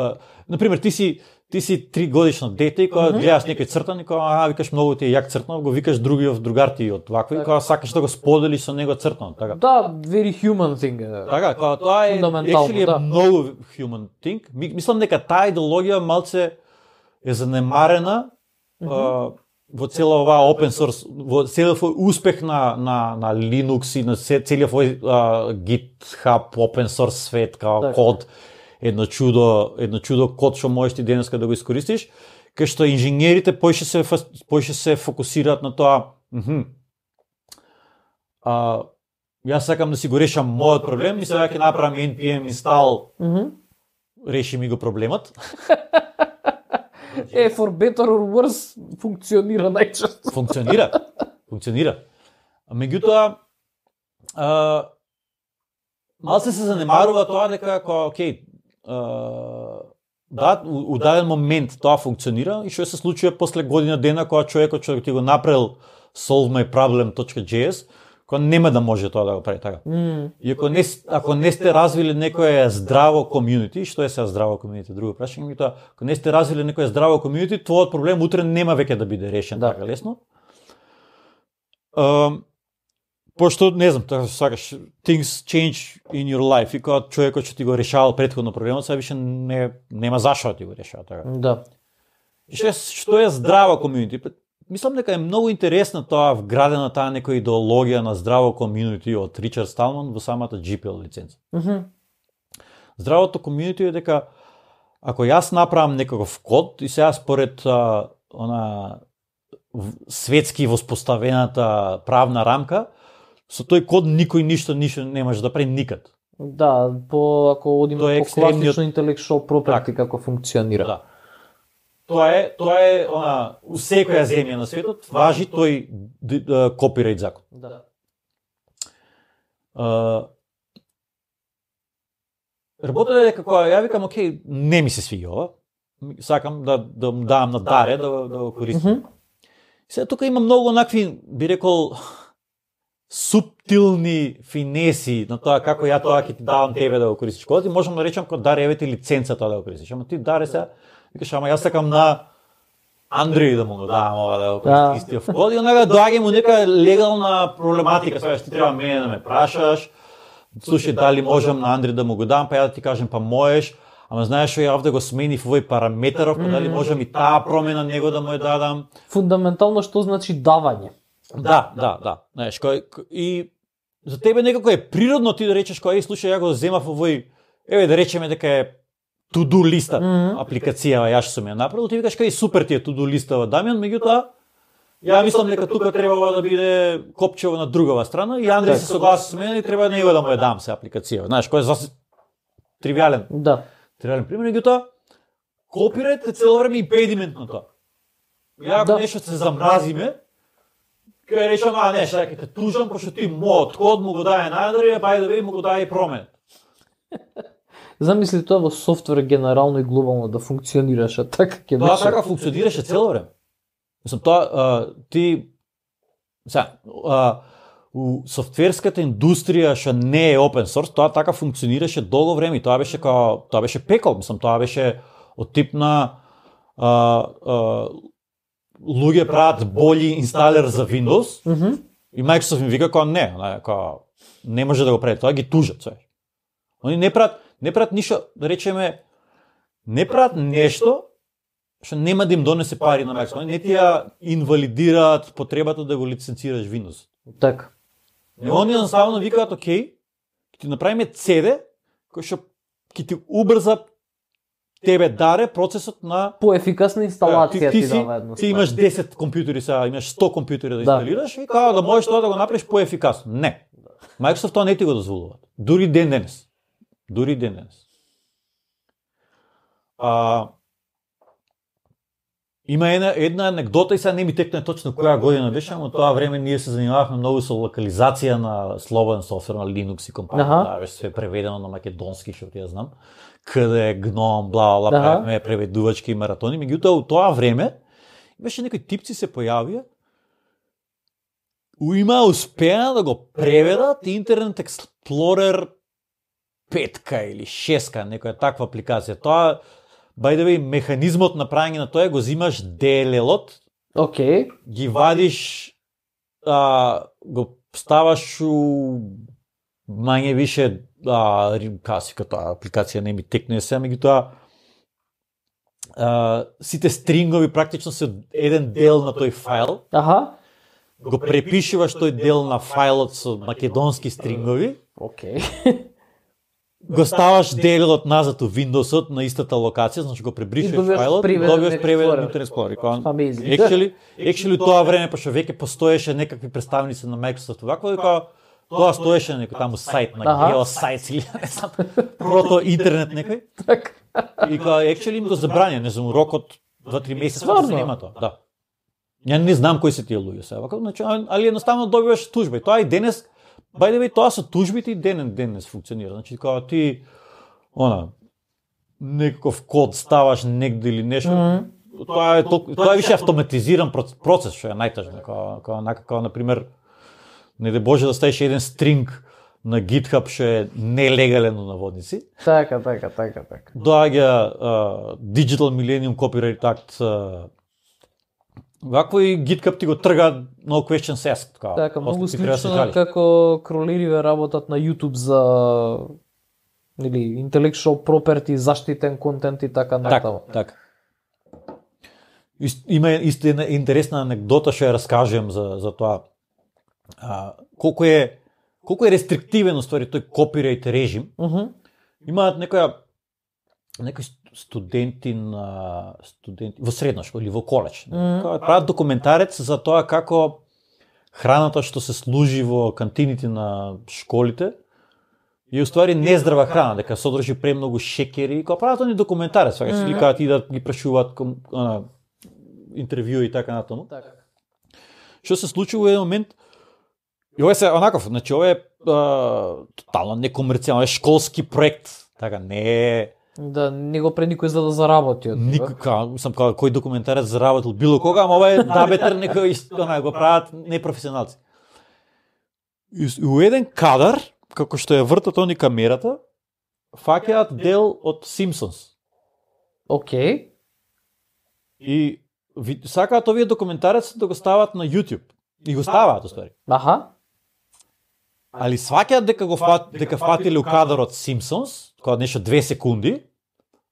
на пример ти си ти си три годишно дете и кога mm-hmm. гледаш некој цртан и кога а викаш многу ти е јак цртан, го викаш другиот другар ти од вакви и кога сакаш да го споделиш со него цртан, така. Да, very human thing. Така, кога тоа е actually да. многу human thing. Мислам дека таа идеологија малце е занемарена mm-hmm. а, во цела оваа open source, во целиот овој успех на на на Linux и на целиот овој GitHub open source свет као так. Код едно чудо, едно чудо код што можеш ти денеска да го искористиш, кај што инженерите поише се поише се фокусираат на тоа. Мхм. А јас сакам да си го решам мојот проблем, и сега ќе направам Ен Пи Ем install. Мхм. Реши ми го проблемот. Е, for better or worse, функционира најчесто. Функционира. Функционира. А меѓутоа, а, малце се занемарува тоа дека како окей, а, да, у, у даден момент тоа функционира и што се случува после година дена кога човекот што ти го направил solve my problem.js, кога нема да може тоа да го прави така. Mm. И ако не ако не сте развили некое здраво комјунити, што е сега здраво комјунити, друго прашање ми тоа, ако не сте развили некое здраво комјунити, твојот проблем утре нема веќе да биде решен да. така лесно. Uh, пошто не знам, така сакаш things change in your life и кога човекот што ти го решавал претходно проблемот, сега више не нема зашто да ти го решава така. Да. И што е, што е здрава комјунити? Мислам дека е многу интересна тоа вградена таа некоја идеологија на здраво комјунити од Ричард Сталман во самата джи пи ел лиценца. Mm-hmm. Здравото комјунити е дека ако јас направам некаков код и сега според а, она светски воспоставената правна рамка, со тој код никој ништо ништо не може да прави никад. Да, по ако одиме по екстремниот... класично intellectual property како функционира. Да. Тоа е, тоа е она у секоја земја на светот важи тој копирајт закон. Да. Uh, Работата е дека кога ја викам, окей, не ми се свиѓа ова, сакам да да му давам на Даре да да го користам. Mm -hmm. Сега тука има многу онакви, би рекол, суптилни финеси на тоа како ја тоа ќе ти давам тебе да го користиш кодот и можам да речам кога Даре еве ти лиценца тоа да го користиш. Ама ти Даре сега викаш, ама јас сакам на Андреј да му го давам ова да го користиш истиот код и онака доаѓа му нека легална проблематика, сега ти треба мене да ме прашаш. Слушај, дали можам на Андреј да му го дам, па ја да ти кажем, па можеш, ама знаеш што ја овде го сменив овој параметаров, па дали можам и таа промена него да му ја дадам. Фундаментално што значи давање? Да, да, да. Знаеш, кој и за тебе некако е природно ти да речеш кој, слушај, ја го земав овој, еве да речеме дека е to-do листа, mm -hmm. апликацијава, ја што сум ја направил, ти викаш кај супер ти е to-do листава, Дамјан, меѓутоа ја мислам дека тука требало да биде копчево на другава страна и Андреј се согласи со мене и треба него да му ја дам се апликација. Знаеш, кој е заси тривијален. Да. Тривијален пример, меѓутоа копирајт е цело време импедимент на тоа. Ја ако да. Нешто се замразиме, кај речам, а не, сега ќе те тужам пошто ти мојот код му го даде на Андреј, па да ви му го даде и промен. Замисли тоа во софтвер генерално и глобално да функционираше така ќе беше. Тоа така функционираше цело време. Мислам, тоа, а, ти, сега, а, у софтверската индустрија што не е open source, тоа така функционираше долго време и тоа беше као, тоа беше пекол, мислам, тоа беше од тип на а, а, луѓе прават бољи инсталер за Windows mm -hmm. и Microsoft им вика као не, као, не може да го прави, тоа ги тужат све. Они не прават, не прават ништо, да речеме, не прават нешто што нема да им донесе пари на Microsoft. Не ти ја инвалидираат потребата да го лиценцираш Windows. Така. И они едноставно викаат, окей, ќе ти направиме си ди, кој што ќе ти убрза тебе Даре процесот на поефикасна инсталација ти, ти, ти дава едноставно. Ти имаш десет компјутери сега, имаш сто компјутери да инсталираш да. И као да можеш тоа да го направиш поефикасно. Не. Microsoft тоа не ти го дозволува. Дури ден денес. Дури ден денес. А, има една, една анекдота и сега не ми текне точно која година беше, но тоа време ние се занимававме многу со локализација на слободен софтвер на Linux и компанија. Да, беше се преведено на македонски, што ти ја знам. Каде гном, бла бла, правиме преведувачки и маратони. Меѓутоа, у тоа време имаше некои типци се појавија има успеа да го преведат Internet Explorer петка или шеска, некоја таква апликација. Тоа, by the way, механизмот на правење на тоа го зимаш ди ел ел-от, okay. Ги вадиш, а, го ставаш у мање више, а, каси като апликација не ми текне се, меѓутоа сите стрингови практично се еден дел на тој файл. Аха. Го препишуваш тој дел на фајлот со македонски стрингови. Окей. Okay. Го ставаш делот назад у Windows-от на истата локација, значи го пребришуваш фајлот и добиваш преведен на Internet Explorer. Actually, actually тоа време пошто веќе постоеше некакви представници на Microsoft вакво и кога тоа стоеше некој таму сајт на GeoSites или не знам, прото интернет некој. Така. И кога actually им го забрања, не знам, рокот два-три месеци да се нема тоа. Да. Ја не знам кои се тие луѓе сега, вака, значи, али едноставно добиваш тужба. И тоа и денес, by the way, тоа со тужбите и денес денес функционира. Значи кога ти она некаков код ставаш негде или нешто, mm -hmm. тоа е толку, тоа е више автоматизиран процес, што е најтажно. Кога кога накако на пример не де Боже да ставиш еден стринг на GitHub што е нелегален на наводници. Така, така, така, така. Доаѓа uh, Digital Millennium Copyright Act uh, Вакво и GitHub ти го трга no questions asked, така. Така, многу слично како кроливе работат на YouTube за или intellectual property, заштитен контент и така натаму. Така, така. Има исто една интересна анекдота што ја раскажем за за тоа. А, колку е колку е рестриктивен уствари тој копирајт режим. Uh -huh. Имаат некоја некои студенти на студенти во средна школа или во коледж. Mm -hmm. Прават документарец за тоа како храната што се служи во кантините на школите е уствари нездрава храна, дека содржи премногу шеќери. Кога прават они документарец, сега се ликаат и да ги прашуваат ком, ана, интервју и така натаму. Така. Што се случи во еден момент? И ова се онаков, значи ова е а, тотално некомерцијално, е школски проект, така не е. Да, не го пре никој за да заработи од него. Никога, сам кога кој документарец заработил било кога, ама ова е набетер некој она го прават непрофесионалци. И у еден кадар, како што ја вртат они камерата, фаќаат дел од Симпсонс. Океј. Okay. И ви, сакаат овие документареци да го стават на YouTube. И го ставаат, уствари. Аха. Али сваќаат дека го фат, дека фатиле у кадарот Симпсонс, кога нешто две секунди,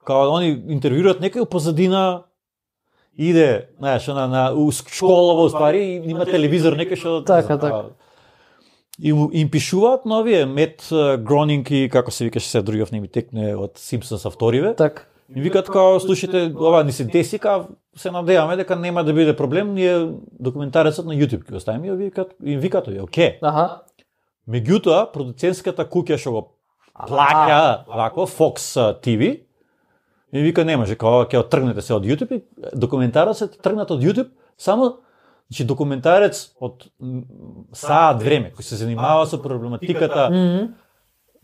кога они интервјуираат некој позадина иде, знаеш, на на у школа во ствари и има телевизор некој што така така. И им пишуваат новие Мет Гронинг и како се викаше се другиот неми текне од Симпсонс авториве. Така. И викаат као слушате, ова ни се деси, као се надеваме дека нема да биде проблем, ние документарецот на YouTube ќе го ставиме и викаат, им викаат, окей. Аха. Меѓутоа, продуцентската куќа што го плаќа вако Fox ти ви и вика не може, кога ќе оттргнете се од YouTube и документарецот е тргнат од YouTube само значи документарец од саат време кој се занимава со проблематиката mm -hmm.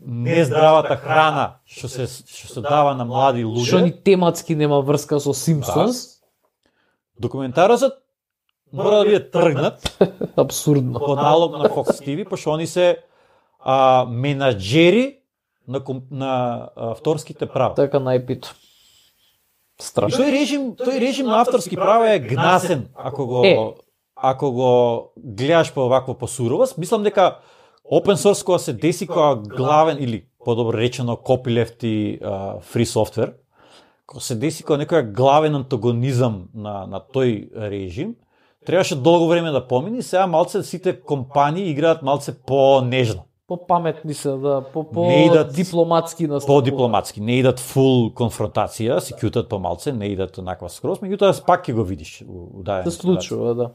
нездравата храна што се што се дава на млади луѓе. Што ни тематски нема врска со Симпсонс. Да. Документарецот мора да биде тргнат апсурдно по налог на Fox ти ви, пошто они се а, менаџери на, на авторските права. Така најпито. Страшно. Тој режим, тој режим на авторски права е гнасен ако го е. ако го гледаш по вакво посуровост. Мислам дека open source кога се деси кога главен или подобро речено copyleft и uh, free software, кога се деси кога некој главен антагонизам на на тој режим, требаше долго време да помине, сега малце сите компании играат малце по-нежно. По-паметни се, да, по-по идат, дипломатски настапуваат. По-дипломатски, не идат фул конфронтација, се кјутат помалце, не идат онаква скроз, меѓутоа пак ќе го видиш у дадена. Се случува, да.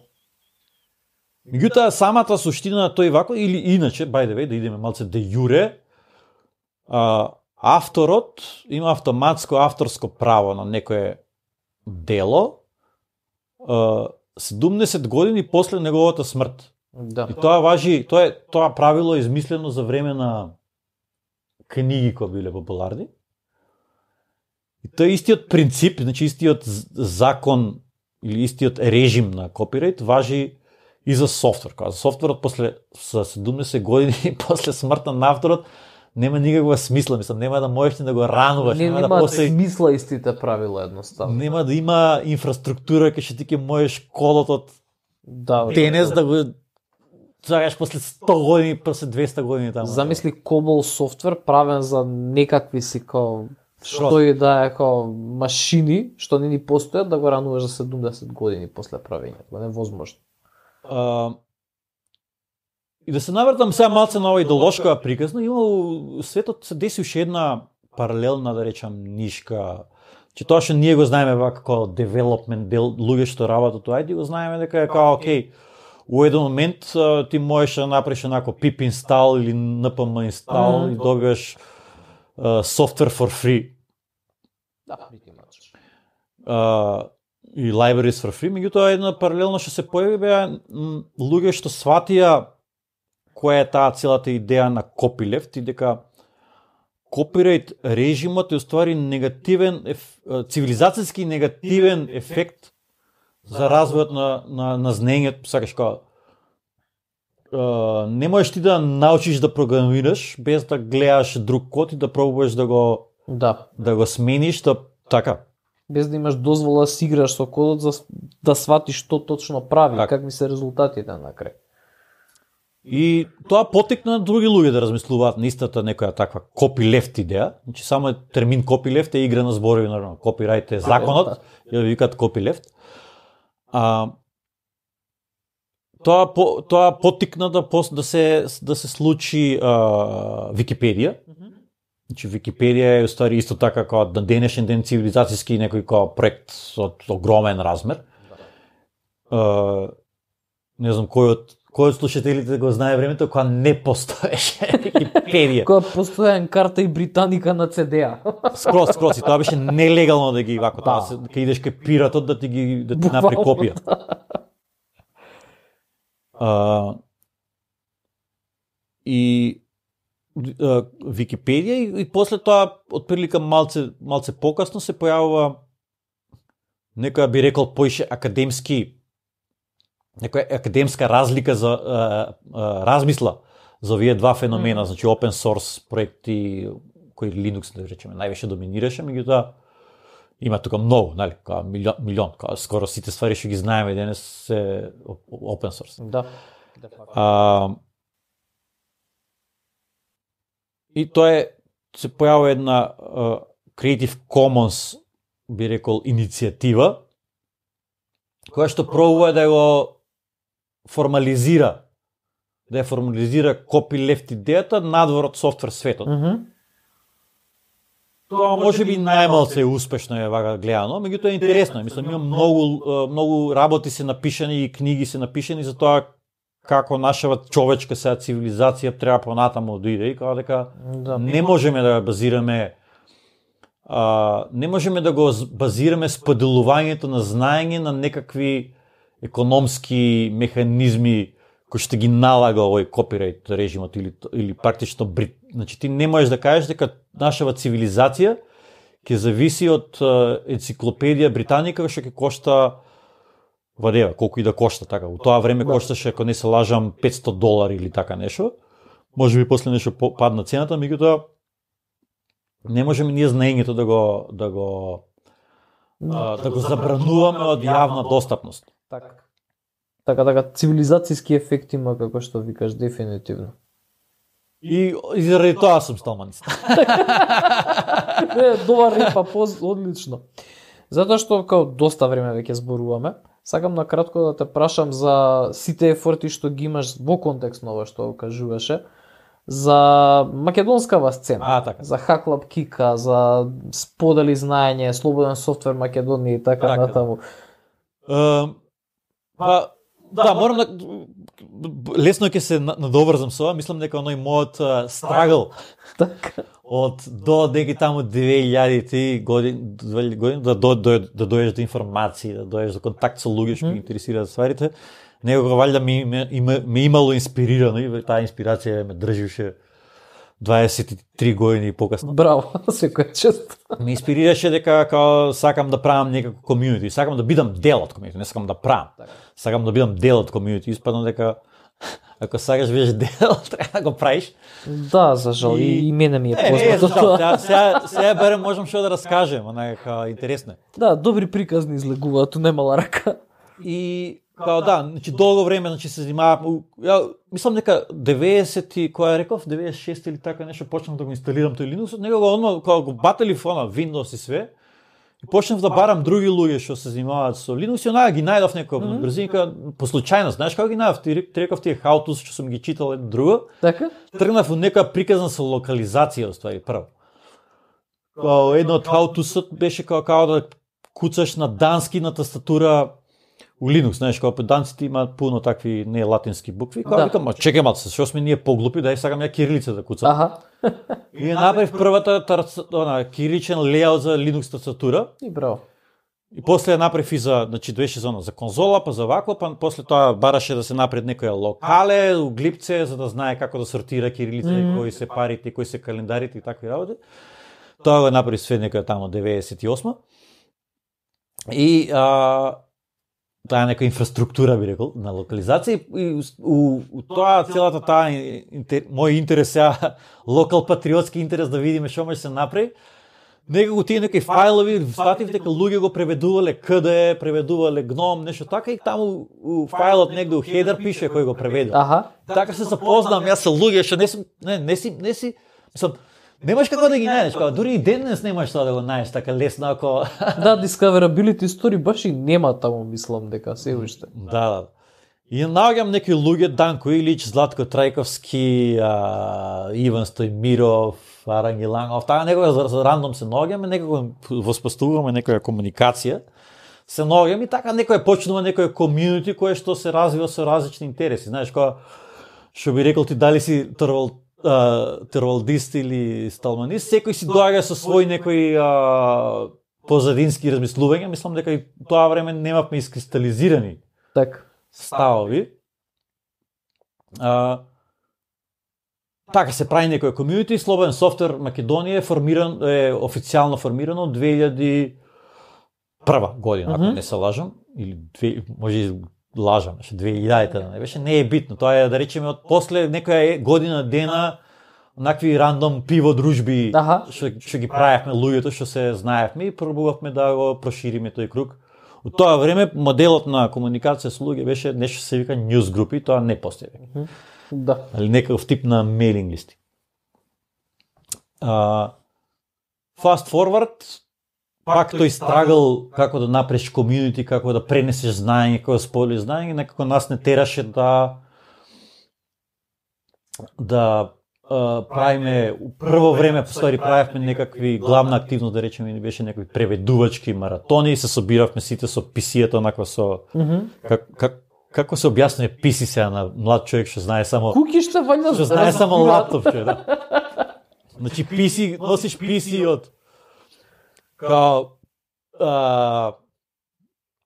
Меѓутоа самата суштина на тој вако или иначе, by the way, да идеме малце де јуре, а, авторот има автоматско авторско право на некое дело, а, седумдесет години после неговата смрт. Да. И тоа важи, тоа е тоа правило е измислено за време на книги кои биле популарни. И тоа е истиот принцип, значи истиот закон или истиот режим на копирајт важи и за софтвер. Кога за софтверот после за седумдесет години после смртта на авторот нема никаква смисла, мислам, нема да можеш да го рануваш, не, нема, нема да после смисла истите правила едноставно. Нема да има инфраструктура кај што ти ќе можеш кодот од да, денес да го загаш после сто години, после двеста години таму. Замисли COBOL софтвер правен за некакви си као што и да е као машини што не ни постојат да го рануваш за седумдесет години после правењето. Невозможно. Uh, и да се навртам сега малце на ова идеолошка приказна, има у светот се деси уште една паралелна, да речам, нишка, че тоа што ние го знаеме вака како девелопмент дел, луѓе што работат тоа, ајде го знаеме дека е као окей, у еден момент uh, ти можеш да направиш онако pip install или npm install mm-hmm. и добиваш software uh, for free. Да, pretty much. Uh, и libraries for free, меѓутоа една паралелно што се појави беа луѓе што сватија која е таа целата идеја на copyleft и дека копирајт режимот е уствари негативен, еф, цивилизацијски негативен ефект за развојот на, на, на знаењето, сакаш као uh, не можеш ти да научиш да програмираш без да гледаш друг код и да пробуваш да го да, да го смениш, да така. без да имаш дозвола да си играш со кодот за да сватиш што точно прави, так. Какви се резултатите на крај. И тоа потекна други луѓе да размислуваат на истата некоја таква copyleft идеја. Значи само е термин copyleft е игра на зборови, нормално. Copyright е законот, ја да викаат copyleft. А тоа по, тоа потикна да да се да се случи а, Википедија. Значи Википедија е уствари исто така како на денешен ден цивилизацијски некој како проект од огромен размер. А, не знам кој од кој од слушателите го знае времето кога не постоеше Википедија. Кога постоеан карта и Британика на це де-а. Скрос, скрос, и тоа беше нелегално да ги вако, да. Тоа да идеш кај пиратот да ти ги да ти направи копија. А, и а, Википедија и, и после тоа отприлика малце малце покасно се појавува некоја би рекол поише академски некоја академска разлика за а, а, размисла за овие два феномена, mm. значи open source проекти кои Linux да речеме највише доминираше, меѓутоа има тука многу, нели, као милион, милион као скоро сите ствари што ги знаеме денес се open source. Да. А, и тоа е се појавува една uh, Creative Commons би рекол иницијатива која што пробува да го формализира да ја формализира copyleft идејата надвор од софтвер светот. Mm -hmm. Тоа може би најмалце е успешно е вака гледано, меѓутоа е интересно. Мислам, има многу многу работи се напишани и книги се напишани за тоа како нашава човечка сега цивилизација треба понатаму да иде и како дека да, не можеме да базираме а, не можеме да го базираме споделувањето на знаење на некакви економски механизми кои што ги налага овој копирајт режимот или или практично брит. Значи ти не можеш да кажеш дека нашава цивилизација ќе зависи од енциклопедија Британика што ќе кошта вадева, колку и да кошта така. У тоа време кошташе, ако не се лажам, петсто долари или така нешто. Може би после нешто падна цената, меѓутоа не можеме ние знаењето да го да го а, да го забрануваме од јавна достапност. Така. Така, така, цивилизацијски ефект има, како што викаш, дефинитивно. И, и заради тоа сум сталманист. Не, добар репа, поз, одлично. Затоа што, као доста време веќе зборуваме, сакам на кратко да те прашам за сите ефорти што ги имаш во контекст на ова што кажуваше, за македонскава сцена, а, така. За Hack Kika, за сподели знаење, слободен софтвер Македонија и така, така. Натаму. Uh, па, да, морам да лесно ќе се надоврзам со ова, мислам дека оној мојот uh, страгл така. Од до деки таму две илјадите години, години да до, до, да дојдеш до информации, да дојдеш до контакт со луѓе што ги интересираат стварите, некога валјда ми ме, ме имало инспирирано и таа инспирација ме држеше дваесет и три години покасно. Браво, секоја чест. Ме инспирираше дека као сакам да правам некако комјунити, сакам да бидам дел од комјунити, не сакам да правам. Сакам да бидам дел од комјунити, испадно дека ако сакаш бидеш дел, треба да го правиш. Да, за жал, и, и мене ми е познато тоа. Сега, сега барем можам што да раскажем, онака интересно. Да, добри приказни излегуваат, немала рака. И као да, значи долго време значи се занимавам. Ја мислам дека деветдесет и која реков, деветдесет и шест или така нешто почнав да го инсталирам тој Linux, од него го одма кога го батали фона Windows и све. И почнав да барам други луѓе што се занимаваат со Linux и онаа ги најдов некоја mm -hmm. брзинка по случајност. Знаеш како ги најдов? Ти реков тие how to што сум ги читал едно друго. Така? Тргнав во некоја приказна со локализација уствари прво. Као едно од how to беше као, као да куцаш на дански на тастатура у Linux, знаеш, како по данците имаат пуно такви не латински букви, као да. Викам, ма чекај малце, што сме ние поглупи, дај сакам ја кирилица да куцам. Аха. И ја направив првата тарца, она кириличен лејаут за Linux тастатура. И браво. И после ја направив и за, значи беше за, за конзола, па за вако, па после тоа бараше да се направи некоја локале, у глипце, за да знае како да сортира кирилица, mm -hmm. кои се парите, кои се календарите и такви работи. Тоа го направи све некоја тамо деветдесет и осма. И а, таа е нека инфраструктура, би рекол, на локализација и у, у тоа целата таа интер, мој интерес сега локал патриотски интерес да видиме што може се направи. некако тие некои фајлови, сватив дека луѓе го преведувале КДЕ, преведувале гном, нешто така и таму у фајлот негде у хедер пише кој го преведува. Аха. Така се запознам јас со луѓе што не сум не не си не си мислам немаш како да ги најдеш, како дури и денес немаш тоа да го најдеш така лесно ако Да, discoverability story баш и нема таму, мислам дека се уште. Да, да. И наоѓам некои луѓе, Данко Илич, Златко Трајковски, а, Иван Стојмиров, Арангелангов, таа некога за, за рандом се наоѓаме, некако воспоставуваме некоја комуникација, се наоѓаме и така некој почнува некој комјунити кое што се развива со различни интереси. Знаеш, кога што би рекол ти дали си тервал, а, тервалдист или сталманист, секој си доаѓа со свој некој а, позадински размислувања, мислам дека и тоа време немавме искристализирани Така. ставови. А, така се прави некој комјунити, Слободен софтвер Македонија е формиран е официјално формирано две илјади и прва година, ако Мгм. не се лажам, или две, може и лажам, беше две илјадите, да не беше, не е битно. Тоа е да речеме од после некоја година дена накви рандом пиво дружби Аха. што што ги правевме луѓето што се знаевме и пробувавме да го прошириме тој круг. У тоа време моделот на комуникација со луѓе беше нешто се вика news групи, тоа не постои. Да. Али некаков тип на мейлинг листи. Uh, fast forward, пак тој страгл како да направиш комјунити, како да пренесеш знаење, како да споделиш знаење, некако нас не тераше да да uh, правиме, у прво време постари правевме некакви главна активност, да речеме, ни беше некои преведувачки маратони и се собиравме сите со пи си-ето, онаква со Мгм. как, как, како се објаснува пи си сега на млад човек што знае само Кукишта вања што знае само лаптоп, че, да. Значи пи си, носиш пи си од као а,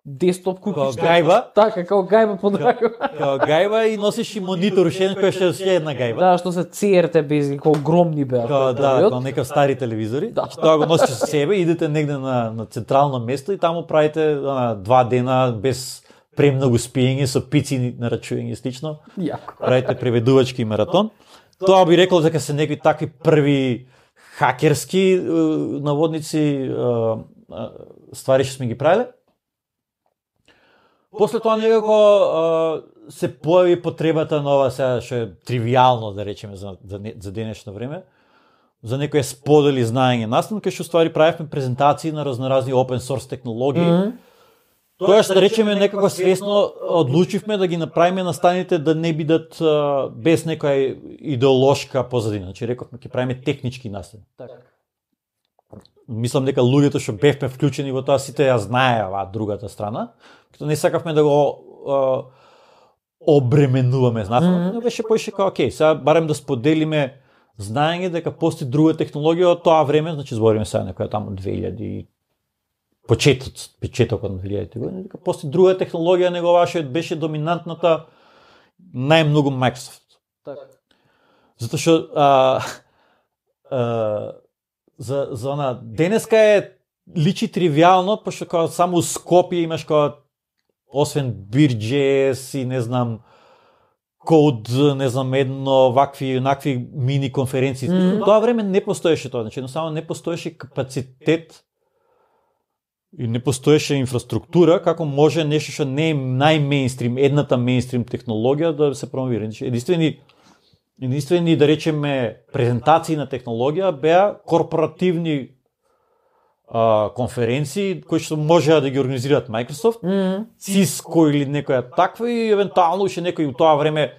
десктоп као кукишта. гајба, Така, како гајба под рака. као гајба и носиш и монитор, уште кој што е една гајба. Да, што се си ар ти без како огромни беа. Као, тој да, период. као некав стари телевизори. Да. Значи, тоа го носиш со себе, идете негде на, на централно место и таму правите ана, два дена без премногу спиење, со пици на рачување и слично. Јако. Правите преведувачки маратон. Тоа би рекол дека се некои такви први хакерски е, наводници е, е, ствари што сме ги правиле. После тоа некако е, се појави потребата на ова сега што е тривијално да речеме за за, не, за денешно време, за некој сподели знаење настан, кај што ствари правевме презентации на разноразни open source технологии. Мгм. Тоа што да речеме некако свесно одлучивме да ги направиме настаните да не бидат а, без некоја идеолошка позадина. Значи рековме ќе правиме технички настани. Така. Мислам дека луѓето што бевме вклучени во тоа сите ја знаеа другата страна, като не сакавме да го а, обременуваме знатно, Мгм. но беше поише као окей, сега барем да споделиме знаење дека постои друга технологија од тоа време, значи збориме сега некоја таму две илјади почетот, почетокот на две илјадите години, дека постои друга технологија него ваша беше доминантната најмногу Microsoft. Така. Затоа што а, а, за за она денеска е личи тривијално, пошто као само у Скопје имаш као освен Бир.джи.ес и не знам код, не знам едно вакви накви мини конференции. Мгм. Mm. Тоа време не постоеше тоа, значи едноставно не постоеше капацитет и не постоеше инфраструктура како може нешто што не е најмеинстрим, едната меинстрим технологија да се промовира. Значи единствени единствени да речеме презентации на технологија беа корпоративни а, конференции кои што можеа да ги организираат Microsoft, Мгм. Cisco или некоја таква и евентуално уште некои у тоа време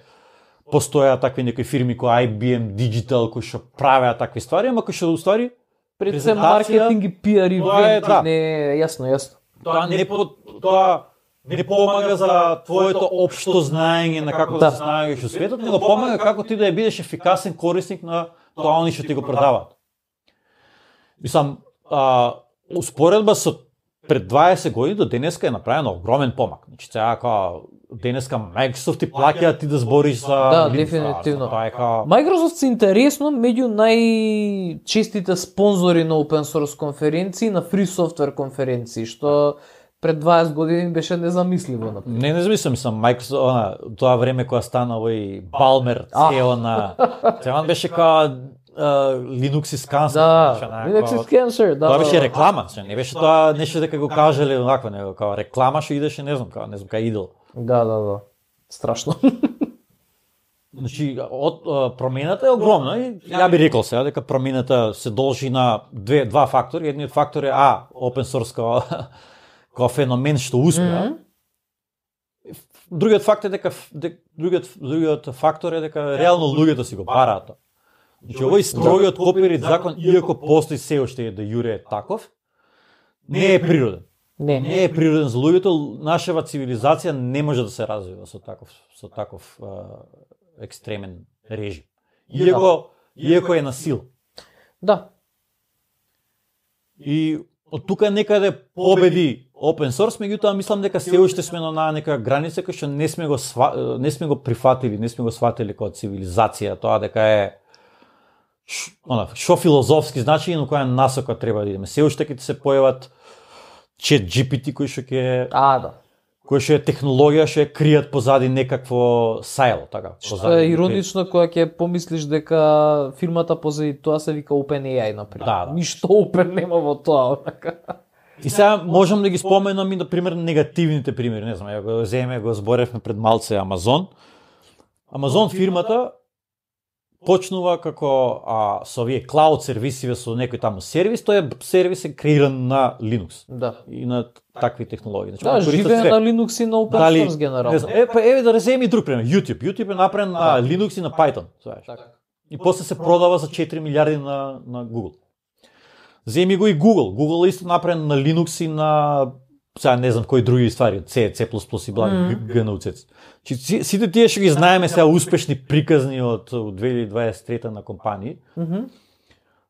постоја такви некои фирми кои ай би ем Digital кои што правеа такви ствари, ама кои што уствари Пред се презентација, маркетинг и пиар и тоа е, да. не, јасно, јасно. тоа не по, тоа не помага за твоето општо знаење на како да, Да. се знаеш во светот, него помага како ти да ја бидеш ефикасен корисник на тоа они што ти го продаваат. Мислам, а, успоредба со пред дваесет години до денеска е направен огромен помак. Значи сега као денеска Microsoft ти плаќаат ти да збориш за Да, Linux, дефинитивно. Тоа е као Microsoft се интересно меѓу најчестите спонзори на open source конференции, на free software конференции, што пред дваесет години беше незамисливо, например. Не, не замислам, мислам, Microsoft, она, тоа време кога стана овој Балмер, А. си и о на... Сега он беше као Linux is cancer. Да, Linux is cancer, да. Тоа беше реклама, не беше тоа нешто дека го кажале онаква, него како реклама што идеше, не знам, како не знам, кај идел. Да, да, да. Страшно. Значи, од промената е огромна и ја би рекол сега дека промената се должи на две два фактори. Едниот фактор е а open source како како феномен што успеа. Mm-hmm. Другиот фактор е дека другиот другиот фактор е дека реално луѓето си го бараат тоа. Значи, овој строгиот копирайт закон, иако постои се уште е да јуре е таков, не е природен. Не, не е природен за луѓето. Нашава цивилизација не може да се развива со таков со таков а, екстремен режим. Иако иако е на сила. Да. И од тука некаде победи open source, меѓутоа мислам дека се уште сме на нека граница која што не сме го сва, не сме го прифатили, не сме го сватили како цивилизација, тоа дека е ш, она, шо филозофски значи и на која насока треба да идеме. Се уште ќе се појават чат джи пи ти кој што ќе А, да. кој што е технологија што е кријат позади некакво сајло, така. Што е иронично кога ќе помислиш дека фирмата позади тоа се вика OpenAI, например. Да, да. Ништо Open нема во тоа. И сега можам да ги споменам и на пример негативните примери, не знам, ја го земе, го зборевме пред малце Амазон. Амазон фирмата почнува како а, со овие клауд сервисиве со некој таму сервис, тој сервис е креиран на Linux. Да. И на такви технологии. Значи, да, живее на Linux и на open Дали, source генерално. Не знам, е, па еве да реземи друг пример, YouTube. YouTube е направен на да. Linux и на Python, знаеш. Така. И после се продава за четири милиарди на на Google. Земи го и Google. Google е исто направен на Linux и на сега не знам кои други ствари, C, C++ и бла, mm-hmm. джи ен ю си. Чи сите тие што ги знаеме сега успешни приказни од две илјади дваесет и трета на компании. Mm-hmm.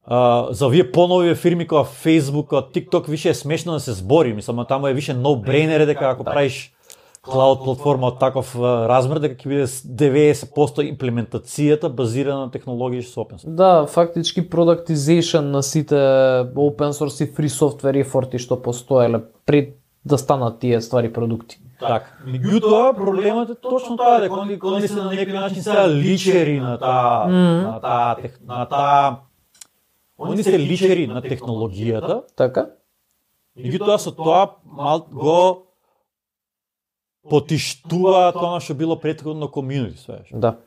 Uh, за овие понови фирми како Facebook, како TikTok, више е смешно да се збори, мислам, таму е више no-brainer дека ако да. правиш клауд платформа од таков uh, размер, дека ќе биде деветдесет проценти имплементацијата базирана на технологии со open source. Да, фактички productization на сите open source и free software ефорти што постоеле пред да станат тие ствари продукти. Така. Меѓутоа, проблемот е точно тоа, дека они они се на некој начин сега личери на таа mm. на таа на таа Они се личери на технологијата. Така. Меѓутоа со тоа мал го потиштува тоа што било претходно комјунити, свеш. Да.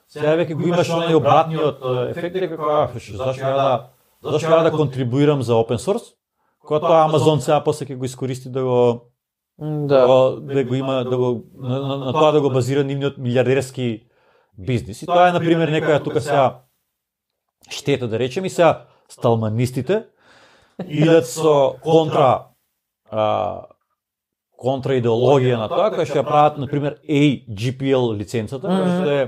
Сега веќе го имаш оној обратниот ефект дека како зашто ја да зашто ја да контрибуирам за open source, кога тоа Amazon сега после ќе го искористи да го да го, да го има да го на, на, на тоа да го базира нивниот милиардерски бизнис. И тоа е на пример некоја тука сега штета да речем и сега сталманистите идат со контра а, контра идеологија на тоа, која што ја прават, например, ей джи пи ел лиценцата, која што е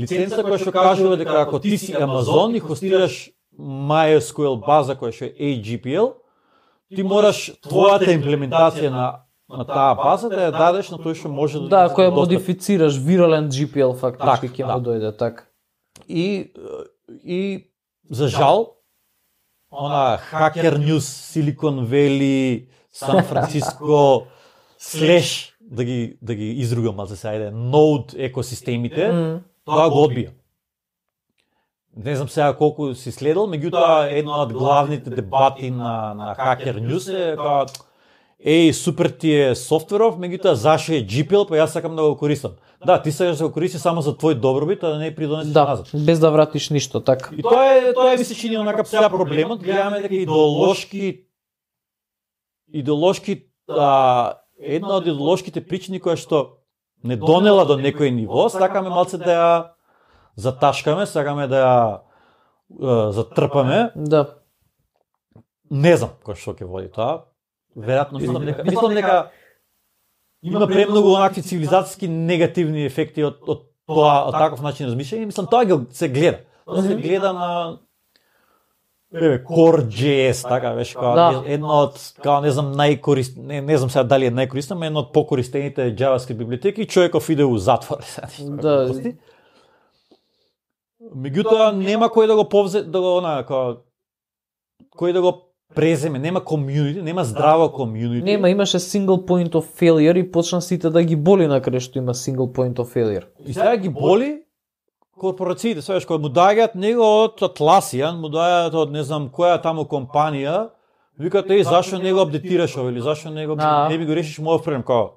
лиценца која што кажува дека ако ти си Amazon и хостираш MySQL база која што е ей джи пи ел, ти мораш твојата имплементација на на таа база да ја дадеш на тој што може да да, која модифицираш вирален джи пи ел фактички ќе да. му дојде така. И и за жал, она Hacker News, Silicon Valley, Сан Франциско, слеш, да ги, да ги изругам, малце се ајде, Node екосистемите, mm. тоа го одбија. Не знам сега колку си следал, меѓутоа едно од главните дебати на, на Hacker News е као, еј, супер ти е софтверов, меѓутоа зашо е джи пи ел, па јас сакам да го користам. Да, ти сакаш да го користиш само за твој добробит, а да не придонесеш да, назад. Без да вратиш ништо, така. И тоа е, тоа е ми се чини онака сега проблемот, гледаме дека идеолошки идеолошки а, една од идеолошките причини која што не донела до некој ниво, сакаме малце да ја заташкаме, сакаме да ја а, затрпаме. Да. Не знам кој што ќе води тоа. Веројатно мислам дека мислам дека има премногу онакви цивилизацијски негативни ефекти од од тоа, од таков начин размишљање. Мислам тоа го се гледа. Тоа се гледа на еве Core.js, така беше како да. Едно од како не знам најкорист не, не знам сега дали е најкористна, но едно од покористените JavaScript библиотеки, човеков иде у затвор. Да. Меѓутоа нема кој да го повзе да го она како кој да го преземе, нема комјунити, нема здраво комјунити. Нема, имаше single point of failure и почна сите да ги боли на крај што има single point of failure. И сега ги боли корпорациите, свеш кои му доаѓаат него од Atlassian, му доаѓаат од не знам која таму компанија, викаат еј зашо не го апдейтираш ова или зашо не го не би го решиш мојот проблем, као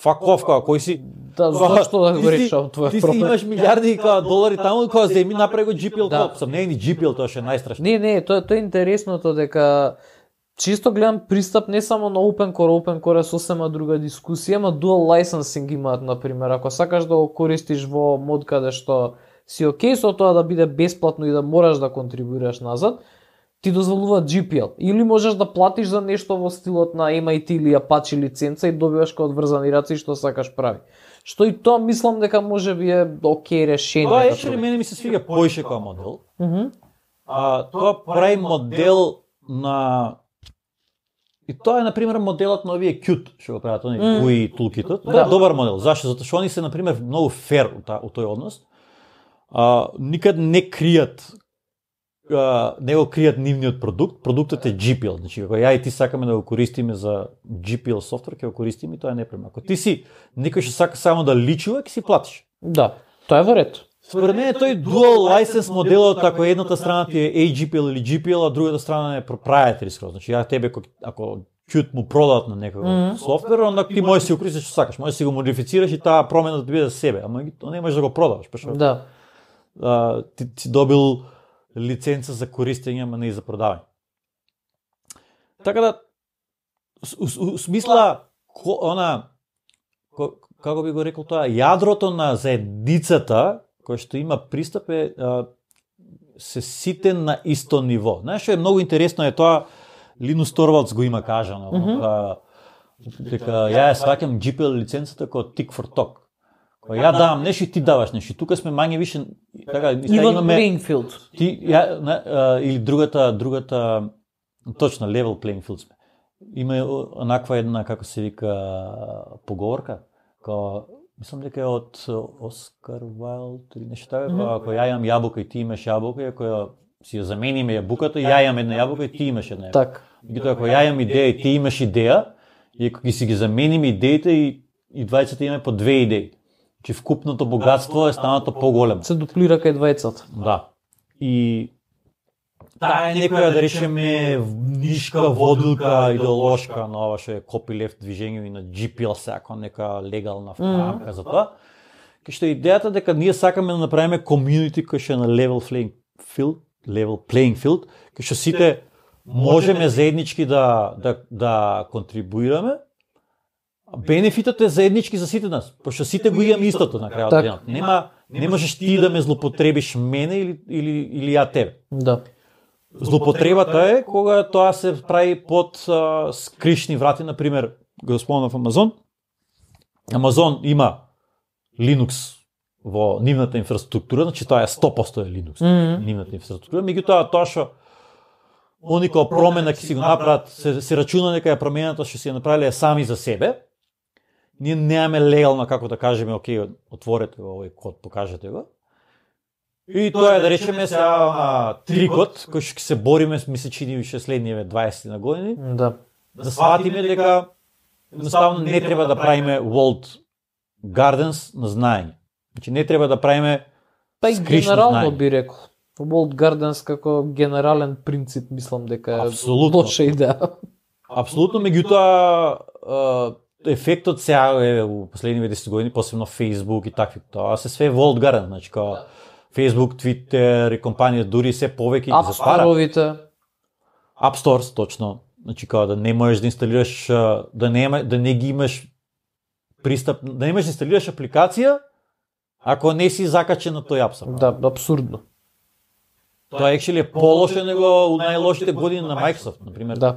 fuck off, као кој си да зашто да го решиш твојот проблем. Ти си имаш милиарди као долари таму, као земи направи го джи пи ел да. Сам не е ни джи пи ел, тоа ше најстрашно. Не, не, тоа тоа е интересното дека чисто гледам пристап не само на Open Core, Open Core е сосема друга дискусија, ама dual licensing имаат, например, ако сакаш да го користиш во мод каде што си окей со тоа да биде бесплатно и да мораш да контрибуираш назад, ти дозволува джи пи ел. Или можеш да платиш за нешто во стилот на ем ай ти или Apache лиценца и добиваш као одврзани раци што сакаш прави. Што и тоа мислам дека може би е окей решение. Тоа е што мене ми се свига поише као модел. Mm -hmm. А тоа прави модел на и тоа е на пример моделот на овие Qt што го прават они Mm. джи ю и toolkit-от. Тоа е добар модел. Зашто? Затоа што они се на пример многу фер у тој однос. А, никад не кријат а, не го кријат нивниот продукт, продуктот е джи пи ел, значи ако ја и ти сакаме да го користиме за джи пи ел софтвер, ќе го користиме, тоа е непремно. Ако ти си некој што сака само да личува, ќе си платиш. Да, тоа е во ред. Според мен тој dual license моделот, ако едната страна ти е ей джи пи ел или джи пи ел, а другата страна е proprietary скроз. Значи ја тебе ако Qt му продадат на некој mm -hmm. софтвер, онда ти можеш си го користиш што сакаш, можеш си го модифицираш и таа промена да биде за себе, ама не можеш да го продаваш, пошто. Да. А, ти си добил лиценца за користење, ама не и за продавање. Така да, у смисла, ко, она, ко, како би го рекол тоа, јадрото на заедницата, кој што има пристап е, а, се сите на исто ниво. Знаеш, што е многу интересно е тоа, Линус Торвалдс го има кажано, mm -hmm. а, дека ја ја сваќам джи пи ел лиценцата како tick for talk. Кој ја давам нешто и ти даваш нешто. Тука сме мање више така Even имаме playing field. Ти ја на, а, или другата другата точно level playing field сме. Има онаква една како се вика поговорка, као мислам дека е од Оскар Вайлд или нешто така, mm -hmm. ако ја имам јабука и ти имаш јабука, ако ја си ја замениме јабуката, ја имам една јабука и ти имаш една јабука. Так. Меѓутоа ако ја имам идеја и ти имаш идеја, и ако ги си ги замениме идеите и и двајцата имаме по две идеи. Че вкупното богатство е станато поголемо. Се дуплира кај двајцата. Да. И таа е некоја да речеме нишка водилка идеолошка на ова што е copyleft движење и на джи пи ел сака нека легална фамка mm -hmm. за тоа. Кај што идејата дека ние сакаме да направиме community кој што е на level playing field, level playing field, кај што сите можеме заеднички да да да контрибуираме. Бенефитот е заеднички за сите нас, пошто сите го имаме истото на крајот на денот. Нема не можеш ти да ме злоупотребиш мене или или или ја тебе. Да. Злоупотребата е кога тоа се прави под а, скришни врати, на пример, го спомнав Амазон. Амазон има Linux во нивната инфраструктура, значи тоа е сто проценти е Linux, mm -hmm. нивната инфраструктура. Меѓутоа тоа што они кога промена ќе си го направат, се, се рачуна дека е промената што си ја направиле сами за себе. Ние немаме легално како да кажеме, окей, отворете го овој код, покажете го. И тоа е да речеме сега на трикот кој што ќе се бориме, ми се чини више следниве дваесет на години. Да. Да сватиме дека едноставно не треба да правиме walled gardens на знаење. Значи не треба да правиме Па и скришно генерално знаење. би рекол. Walled Gardens како генерален принцип мислам дека е Апсолутно. лоша идеја. Апсолутно, меѓутоа ефектот сега е во последниве десет години, посебно Facebook и такви, тоа се све walled garden, значи као Facebook, Twitter и компанија дури се повеќе ги App затвара. Store-овите. App Stores, точно. Значи као да не можеш да инсталираш, да не да не ги имаш пристап, да не можеш да инсталираш апликација ако не си закачен на тој App Store. Да, апсурдно. Тоа actually е полошо него у најлошите години на Microsoft, на пример. Да.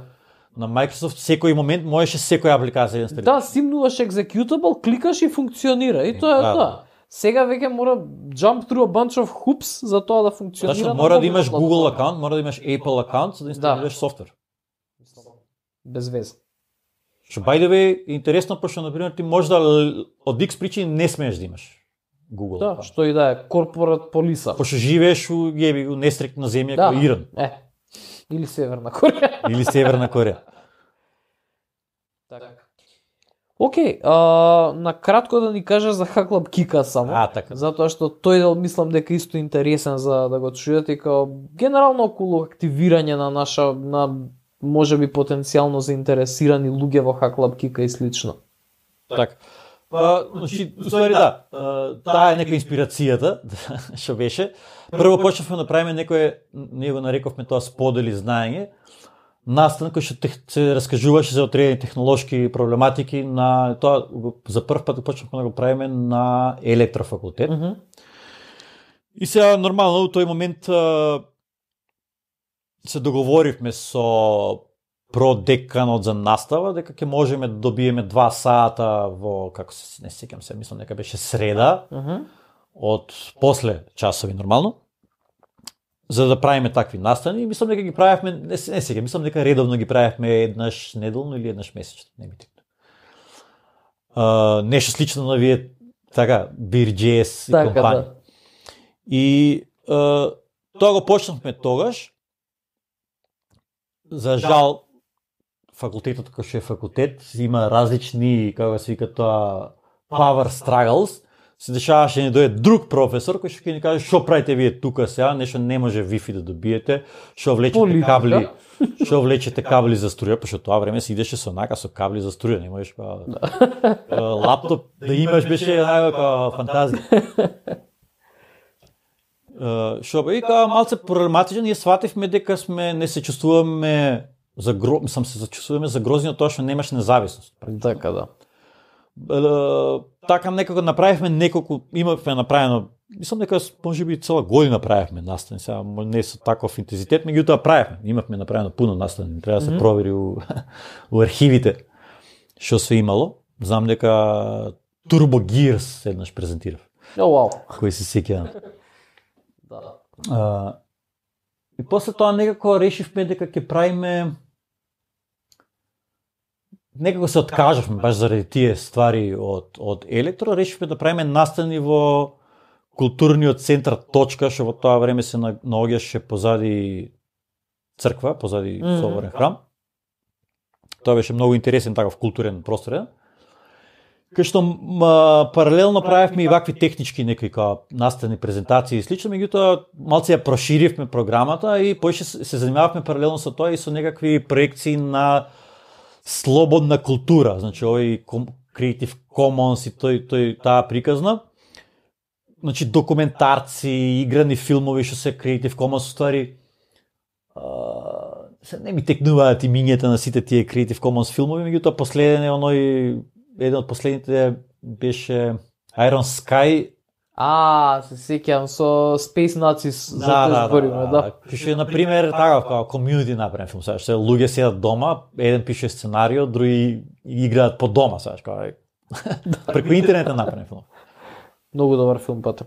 На Microsoft секој момент можеше секоја апликација да инсталираш. Да, симнуваш executable, кликаш и функционира. И тоа е Да, тоа. да. Сега веќе мора jump through a bunch of hoops за тоа да функционира. Значи на мора да мобилна имаш платформа. Google акаунт, мора да имаш Apple акаунт за да инсталираш Да. софтвер. Без веза. Што by the way е интересно, пошто на пример ти може да од X причини не смееш да имаш Google Да, акаунт. што и да е корпорат полиса. Пошто живееш у јеби у нестрекна земја Да. како Иран Е. Или Северна Кореја. или Северна Кореја. Така. Океј, а, на кратко да ни кажеш за Хаклаб Кика само. А, така. Затоа што тој дел мислам дека исто интересен за да го чуете и као генерално околу активирање на наша на можеби потенцијално заинтересирани луѓе во Хаклаб Кика и слично. Така. Па, значи, ствари да, таа е нека инспирацијата, што беше. Прво почнавме да правиме некое, ние го нарековме тоа сподели знаење, настан кој што се раскажуваше за одредени технолошки проблематики на тоа за прв пат почнавме да го правиме на електрофакултет. Mm -hmm. И сега нормално во тој момент се договоривме со продеканот за настава дека ќе можеме да добиеме два сата во како се не сеќам се, мислам дека беше среда. Mm -hmm. Од после часови нормално, за да правиме такви настани, и мислам дека ги правевме, не се не сега, мислам дека редовно ги правевме еднаш неделно или еднаш месечно, не ми текна. Uh, нешто слично на вие така Бирџес и така, компанија. Да. И uh, тоа го почнавме тогаш. За жал факултетот кој што е факултет има различни, како се вика тоа, power struggles. Се дешаваше да ни дојде друг професор кој што ќе ни каже што правите вие тука сега, нешто не може Wi-Fi да добиете, што влечете Политика. кабли, што влечете кабли за струја, пошто тоа време се идеше со онака со кабли за струја, не можеш па лаптоп да имаш, беше некако фантазија. Што е као малце проблематично, ние свативме дека сме не се чувствуваме за гро, мислам се чувствуваме загрозени од тоа што немаш независност. Така да. Така некако направивме неколку, имавме направено, мислам дека можеби цела година правевме настани, сега не со таков интензитет, меѓутоа правевме, имавме направено пуно настани, треба да се mm -hmm. провери у, у архивите што се имало. Знам дека Turbo Gears еднаш презентирав. О, oh, вау. Wow. Кој се сеќа. Да. Uh, и после тоа некако решивме дека ќе правиме, некако се откажавме баш заради тие ствари од од електро, решивме да правиме настани во културниот центар Точка, што во тоа време се наоѓаше позади црква, позади mm -hmm. соборен храм. Тоа беше многу интересен таков културен простор. Кај што ма, паралелно правевме и вакви технички некои као настани, презентации и слично, меѓутоа малце ја проширивме програмата и поише се занимававме паралелно со тоа и со некакви проекции на слободна култура, значи овој Creative Commons и тој тој таа приказна. Значи документарци, играни филмови што се Creative Commons ствари. Се не ми текнуваат имињата на сите тие Creative Commons филмови, меѓутоа последен е оној еден од последните беше Iron Sky. А, се сеќавам со Space Nazis за да, да, збориме, да. да. Пише на пример така како комјунити направен филм, сакаш, луѓе седат дома, еден пише сценарио, други играат по дома, сакаш, како преку интернет направен филм. Многу добар филм пата.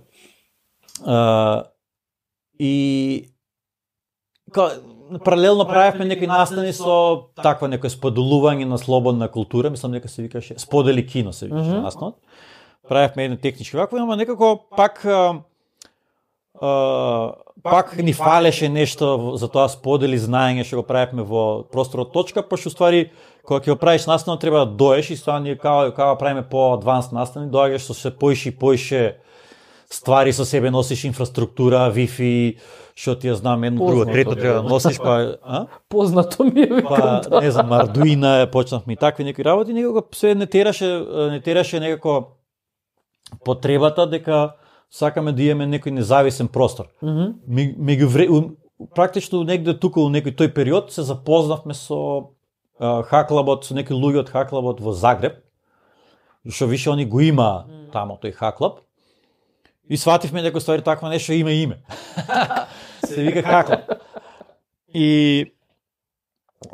Uh, и ка, паралелно правевме некои настани со таква некој споделување на слободна култура, мислам дека се викаше сподели кино се викаше mm -hmm. настанот. Правевме еден технички вакво, ама некако пак а, а, пак ни фалеше нешто за тоа сподели знаење што го правевме во просторот Точка, пошто ствари кога ќе го правиш настан треба да доеш и ствари ние као као правиме по адванс настани, доаѓаш со се поише и поише ствари со себе, носиш инфраструктура, Wi-Fi, што ти ја знам, едно друго, трето треба да носиш, па, а? Познато ми е. Па, не знам, Arduino, почнавме и такви некои работи, некако се не тераше, не тераше некако потребата дека сакаме да имаме некој независен простор. Mm -hmm. Меѓу практично негде тука во некој тој период се запознавме со Хаклабот, со некои луѓе од Хаклабот во Загреб, што више они го има тамо тој Хаклаб. И свативме дека ствари такво нешто има име. Се вика Хаклаб. И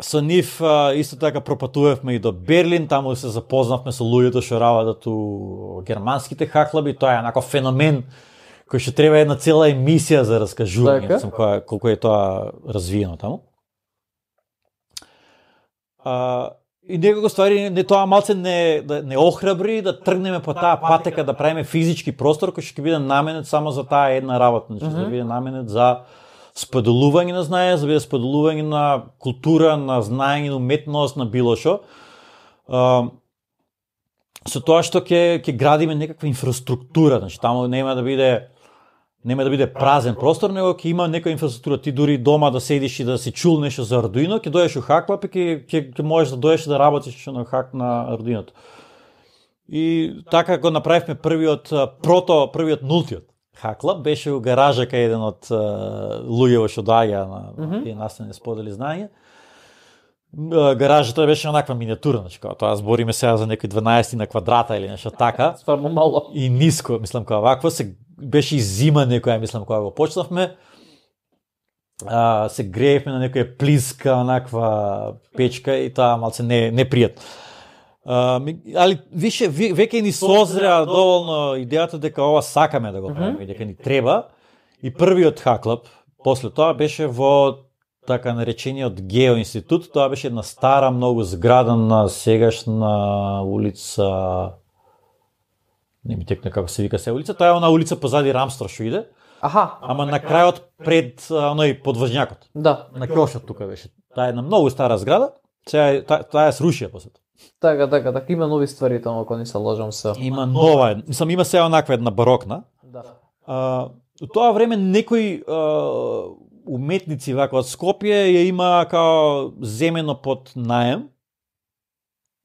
со нив исто така пропатувавме и до Берлин, таму се запознавме со луѓето што работат у германските Хаклаби, тоа е еднаков феномен кој што треба една цела емисија за раскажување, сум која колку е тоа развиено таму. А, и некако ствари не тоа малце не да не охрабри да тргнеме по таа патека да правиме физички простор кој што ќе биде наменет само за таа една работа, значи mm -hmm. да биде наменет за споделување на знаење, за биде споделување на култура, на знаење, на уметност, на било што. со тоа што ќе ќе градиме некаква инфраструктура, значи таму нема да биде нема да биде празен простор, него ќе има некоја инфраструктура. Ти дури дома да седиш и да се чулнеш за Arduino, ќе дојдеш у Haklab и ќе ќе ќе можеш да дојдеш да работиш на хак на Arduino. И така го направивме првиот прото, првиот нултиот Haklab, беше у гаража кај еден од луѓето што доаѓа на тие наставни сподели знаење. Гаражата беше онаква миниатура, значи како тоа збориме сега за некои дванаесет на квадрата или нешто така. Стварно мало. И ниско, мислам кога вакво се беше и зима некоја, мислам кога го почнавме. А, се греевме на некоја плиска, онаква печка и тоа малце не непријатно. А, али више веќе ни созреа доволно идејата дека ова сакаме да го правиме, mm-hmm. дека ни треба. И првиот Haklab после тоа беше во така наречениот Гео институт. Тоа беше една стара многу зграда на сегашна улица, не ми текне како се вика се улица, тоа е она улица позади Рамстор што иде. Аха. Ама на крајот пред оној подвожњакот. Да. На Кјошот тука беше. Таа е една многу стара зграда. Сега таа, таа е срушија после тоа. Така, така, така, има нови ствари таму, ако не се лажам се. Има нова, мислам има сега онаква една барокна. Да. А, у тоа време некои а, уметници вака од Скопје ја има као земено под наем.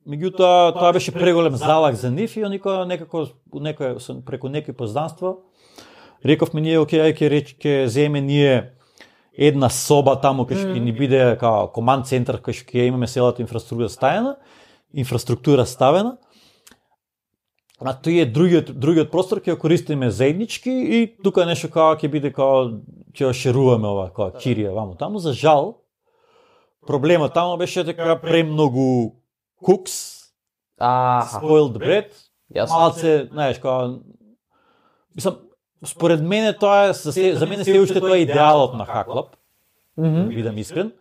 Меѓутоа тоа беше преголем залак за нив и никој некако некој преку некои познанства рековме ние окей, ај ќе реч ќе земеме ние една соба таму кај што ќе ни биде као команд центар кај што ќе имаме целата инфраструктура ставена, инфраструктура ставена. А тој е другиот другиот простор ќе го користиме заеднички и тука нешто као ќе биде као ќе шеруваме ова као кирија ваму таму. За жал проблемот таму беше дека премногу cooks, Аха. spoiled bread. Јасно. Малце, знаеш, као мислам според мене тоа е за, се, за мене се уште тоа е идеалот на Haklab. Мгм. Да бидам искрен.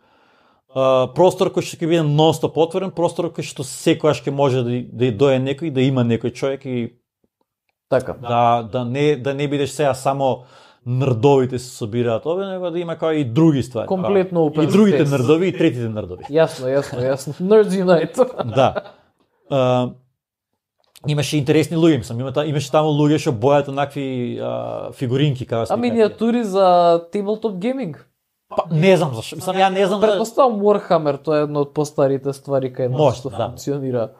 Uh, простор кој што ќе биде нон-стоп отворен, простор кој што секогаш ќе може да да дојде некој, да има некој човек и Така. да да не да не бидеш сега само нрдовите се собираат овде, него да има као и други ствари. Комплетно као, open и другите space. нрдови и третите нрдови. Јасно, јасно, јасно. Nerds Unite. Да. Uh, имаше интересни луѓе, мислам, има, имаше таму луѓе што бојат онакви uh, фигуринки како А миниатури за tabletop gaming? Па, не знам зашто. Мислам, ја не знам да... Предпоставам Warhammer, тоа е една од постарите ствари кај нас Може, што да. функционира.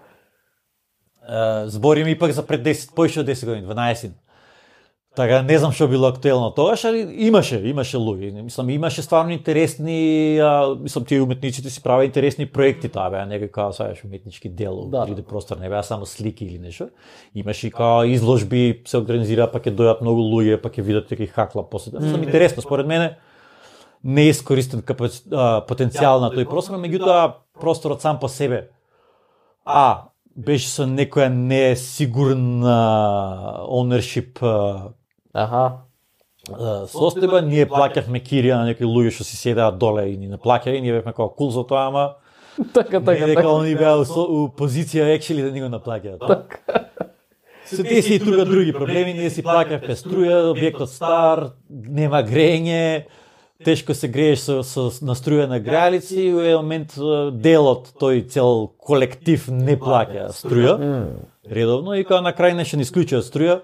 Uh, збориме ипак за пред десет, поише од десет години, дванаесет. Така, не знам што било актуелно тогаш, али имаше, имаше луѓе. Мислам, имаше стварно интересни, а, мислам, тие уметниците си правеа интересни проекти, таа беа некој као саеш уметнички дел, Да. три Д простор, не беа само слики или нешто. Имаше и као изложби, се организира, па ќе дојдат многу луѓе, па ќе видат некој Haklab после. Мислам, интересно, според мене, не е искористен капаци... а, потенцијал на тој простор, меѓутоа просторот сам по себе а беше со некоја несигурна ownership а, Аха. а, состојба, ние плаќавме кирија на некои луѓе што си седеа доле и ни не плаќаја и ние бевме како кул за тоа, ама Така, не така, дека така. они беа у, со- у позиција actually да ни го наплаќаат. Така. Со тие си и тука други проблеми, ние си плаќавме струја, објектот стар, нема грење, тешко се грееш со, со на струја на грајалици и у еден момент а, дел од тој цел колектив не плаќа струја редовно и кога на крај нешто ни исклучува струја,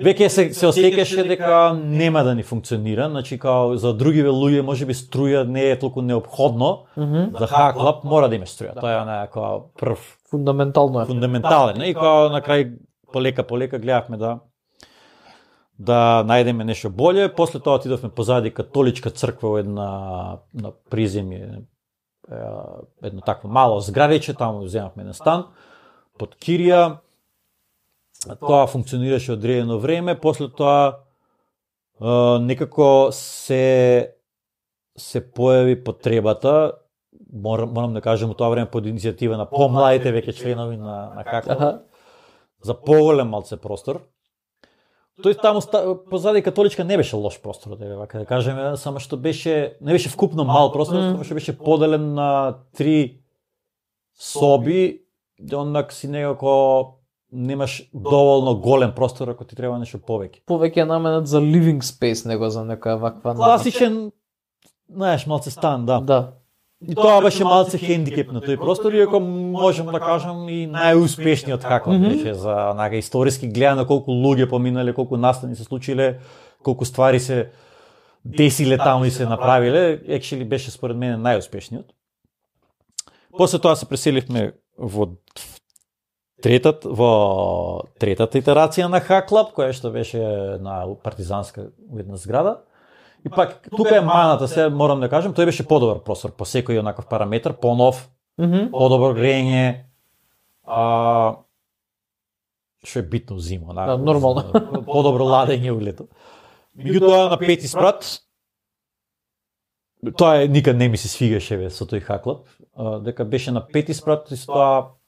веќе се се осеќаше дека нема да ни функционира, значи као за другиве луѓе можеби струја не е толку неопходно, за Haklab мора да имаш струја. Тоа е она како прв Фундаментално е. фундаментален и кога на крај полека полека гледавме да да најдеме нешто боле. После тоа отидовме позади католичка црква во една на приземје, е, едно такво мало зградиче, таму земавме еден стан под кирија. Тоа функционираше одредено време, после тоа е, некако се се појави потребата, морам, морам да кажам у тоа време под иницијатива на помладите веќе членови на на Haklab, Аха. за поголем малце простор. Тој таму ста- позади католичка не беше лош простор, да вака да кажеме, само што беше не беше вкупно мал простор, Mm. само што беше поделен на три соби, онак си некако немаш доволно голем простор ако ти треба нешто повеќе. Повеќе е наменет за living space него за некоја ваква Класичен, знаеш, малце стан, да. Да. И тоа беше малце хендикеп на тој простор, иако можем да кажам и најуспешниот хаклап mm-hmm. беше за онака историски гледано колку луѓе поминале, колку настани се случиле, колку ствари се десиле таму и се направиле, actually беше според мене најуспешниот. После тоа се преселивме во третата во третата итерација на хаклап, која што беше на партизанска една зграда. И пак, тука е маната, се морам да кажам, тој беше подобар простор, по секој онаков параметар, понов, mm-hmm. подобро грење, а, што е битно зима, да, нормално. Подобро ладење у лето. Меѓутоа на пети спрат, тоа е, никад не ми се свигаше бе, со тој хаклап, а, дека беше на пети спрат, и тоа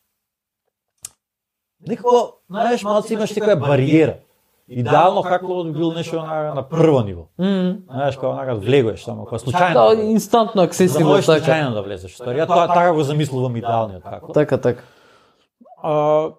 некако, знаеш, малце имаш некоја бариера. Идеално хаклапот бил нешто на, на прво ниво. Mm. Знаеш, кога онака влегуваш само, кога случајно. Да, инстантно аксесивно, да можеш случајно да влезеш. Ја тоа така го замислувам идеалниот хаклап. Така, така. А,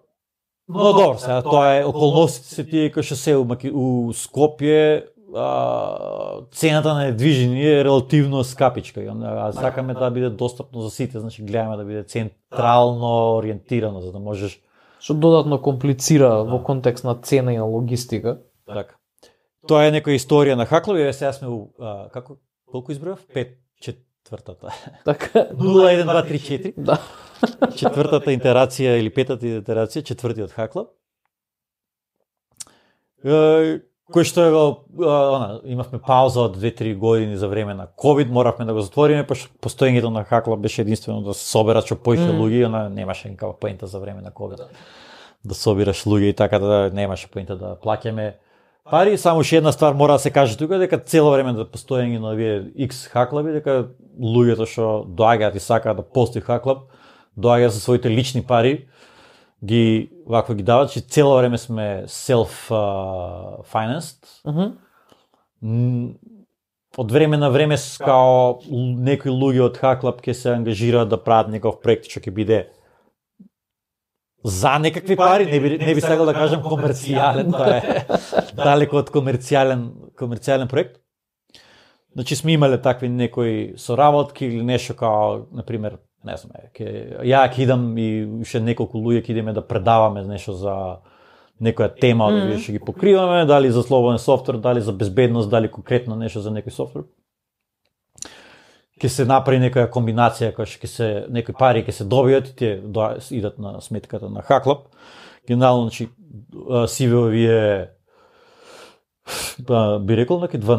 но добро, сега тоа е околностите се тие кои што се у, у Скопје, а, цената на недвижение е релативно скапичка. А сакаме да биде достапно за сите, значи гледаме да биде централно ориентирано, за да можеш што додатно комплицира во контекст на цена и на логистика. Така. Тоа е некоја историја на хаклови, сега сме у а, како колку избројав? пет четвртата. Така. нула еден два три четири. Да. Четвртата итерација или петата итерација, четвртиот хаклап. Е, кој што е она, имавме пауза од две-три години за време на ковид, моравме да го затвориме, пошто постоењето на хаклап беше единствено да се соберат што поише mm. луѓе, она немаше никаква поента за време на ковид. Да собираш луѓе и така да немаше поента да плаќаме пари. Само уште една ствар мора да се каже тука, дека цело време да постоење на овие X хаклаби, дека луѓето што доаѓаат и сакаат да постои хаклап, доаѓаат со своите лични пари, ги вакво ги дават, че цело време сме self-financed. Mm-hmm. Од време на време као некои луѓе од хаклап ќе се ангажираат да прават некој проект што ќе биде за некакви пари, не би не би сакал да кажам комерцијален, тоа е далеко од комерцијален комерцијален проект. Значи сме имале такви некои соработки или нешто као, на пример, не знам, ќе ја ќе идам и уште неколку луѓе ќе идеме да предаваме нешто за некоја тема, mm-hmm. да ќе ги покриваме, дали за слободен софтвер, дали за безбедност, дали конкретно нешто за некој софтвер. Ќе се направи некоја комбинација која ќе се некои пари ќе се добијат и тие идат на сметката на хаклап. Генерално, значи си ви овие Ба, би рекол неки два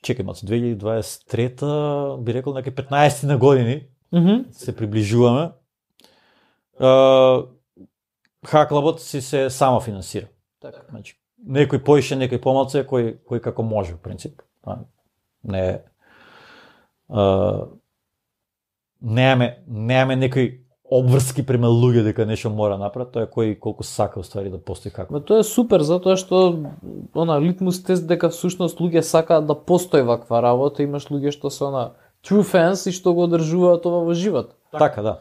чекај мац две илјади дваесет и трета, би рекол неки петнаесет на години. Mm-hmm. Се приближуваме. Uh, хаклапот си се само финансира. Така. Значи, некој поише, некој помалце, кој кој како може, в принцип. Не uh, немаме немаме некој обврски према луѓе дека нешто мора направат, тоа е кој колку сака уствари да постои хаклап. Ма тоа е супер затоа што она литмус тест дека всушност луѓе сакаат да постои ваква работа, имаш луѓе што се она true fans и што го одржуваат ова во живот. Така, да.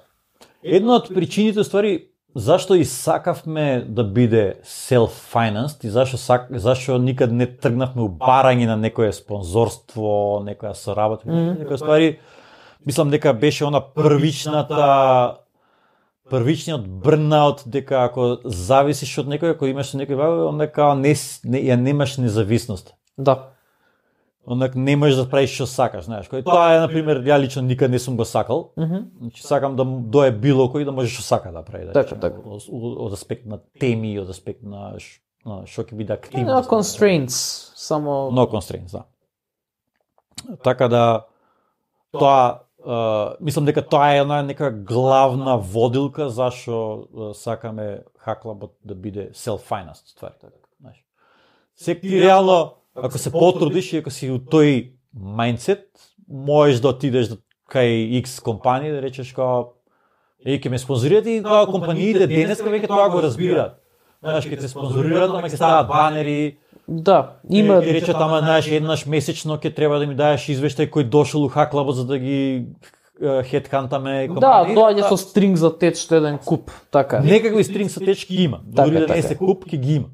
Една од причините ствари зашто и сакавме да биде self-financed и зашто сак, зашто никад не тргнавме у барање на некое спонзорство, некоја соработа, mm-hmm. некоја ствари, мислам дека беше она првичната првичниот брнаут, дека ако зависиш од некој, ако имаш некој вај, онека не, не ја немаш независност. Да. Онак не можеш да правиш што сакаш, знаеш. Кој тоа е на пример, ја лично никад не сум го сакал. Mm-hmm. Значи сакам да дое било кој да може што сака да прави, да. Така, така. Од, од аспект на теми, од аспект на што ќе биде активност. No constraints, само No constraints, да. Така да тоа Uh, мислам дека тоа е една нека главна водилка зашо uh, сакаме хаклапот да биде self-financed ствари, така, знаеш. Секи реално ако се потрудиш и ако си у тој мајндсет, можеш да отидеш кај X компанија да речеш како е ќе ме спонзорираат и тоа компаниите денеска веќе тоа го разбираат. Знаеш, ќе те спонзорираат, ама ќе стават банери. Да, има и речат ама знаеш еднаш месечно ќе треба да ми даеш извештај кој дошол у хаклапот за да ги хедхантаме Да, компании. доаѓа со стринг за теч што еден куп, така. Некакви стринг за теч ќе има. Дури така, да не така. се куп ќе ги има.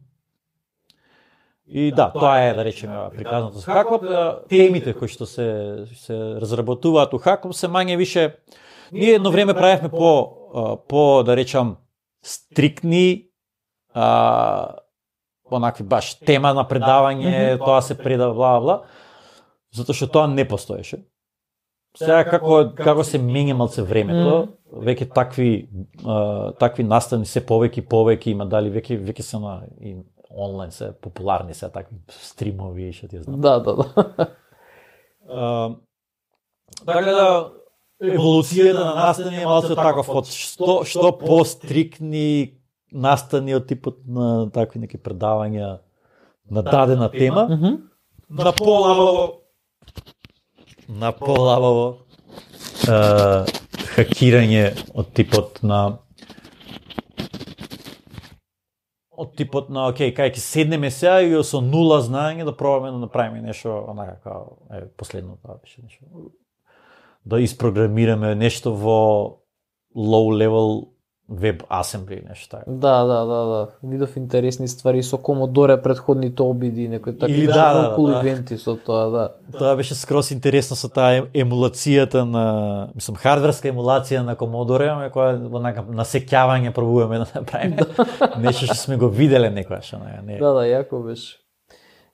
И да, тоа е, да речеме, приказното за Hack Lab. Темите кои што се се разработуваат у Hack Lab се мање више. Ние едно време правевме по по да речам стрикни а онакви баш тема на предавање, mm-hmm. тоа се предава бла бла, затоа што тоа не постоеше. Сега како како се менја малце времето, mm-hmm. веќе такви а, такви настани се повеќе и повеќе има, дали веќе веќе се на и онлайн се популарни се такви стримови, што ти знам. Да, да, да. А, така да еволуцијата на настани е малце таков од што што пострикни настани од типот на такви неки предавања на дадена тема, Mm-hmm. на полабаво на полабаво е, хакирање од типот на од типот на окей, кај ќе седнеме сега и со нула знаење да пробаме да направиме нешто онака како е последно тоа беше нешто. Да испрограмираме нешто во low level веб асембли нешто така. Да, да, да, да. Видов интересни ствари со Commodore предходните обиди, некои такви Или да, да, околу да. ивенти со тоа, да. Тоа беше скрос интересно со таа емулацијата на, мислам, хардверска емулација на Commodore, ама која онака насеќавање пробуваме да направиме. Нешто што сме го виделе некогаш, не. Да, да, јако беше.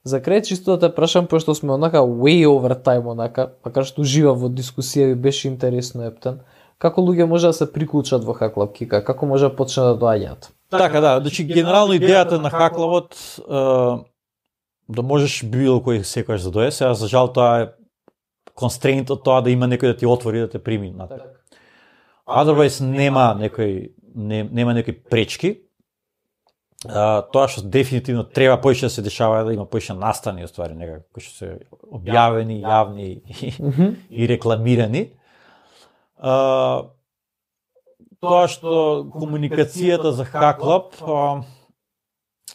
За крај чисто да те прашам, пошто сме онака way over time онака, макар што ужива во дискусија и беше интересно ептен. Како луѓе може да се приклучат во Hack Lab, Кика? Како може да почне да доаѓаат? Така, да, значи генерално идејата на Hack Lab-от е да можеш било кој секогаш да дојде. Сега за жал тоа е констрейнт од тоа да има некој да ти отвори да те прими натаму. Otherwise нема некој не, нема некои пречки. А, тоа што дефинитивно треба поише да се дешава е да има поише настани оствари некако кои што се објавени, јавни и, Mm-hmm. и рекламирани. Uh, тоа што комуникацијата за Hack Lab, uh,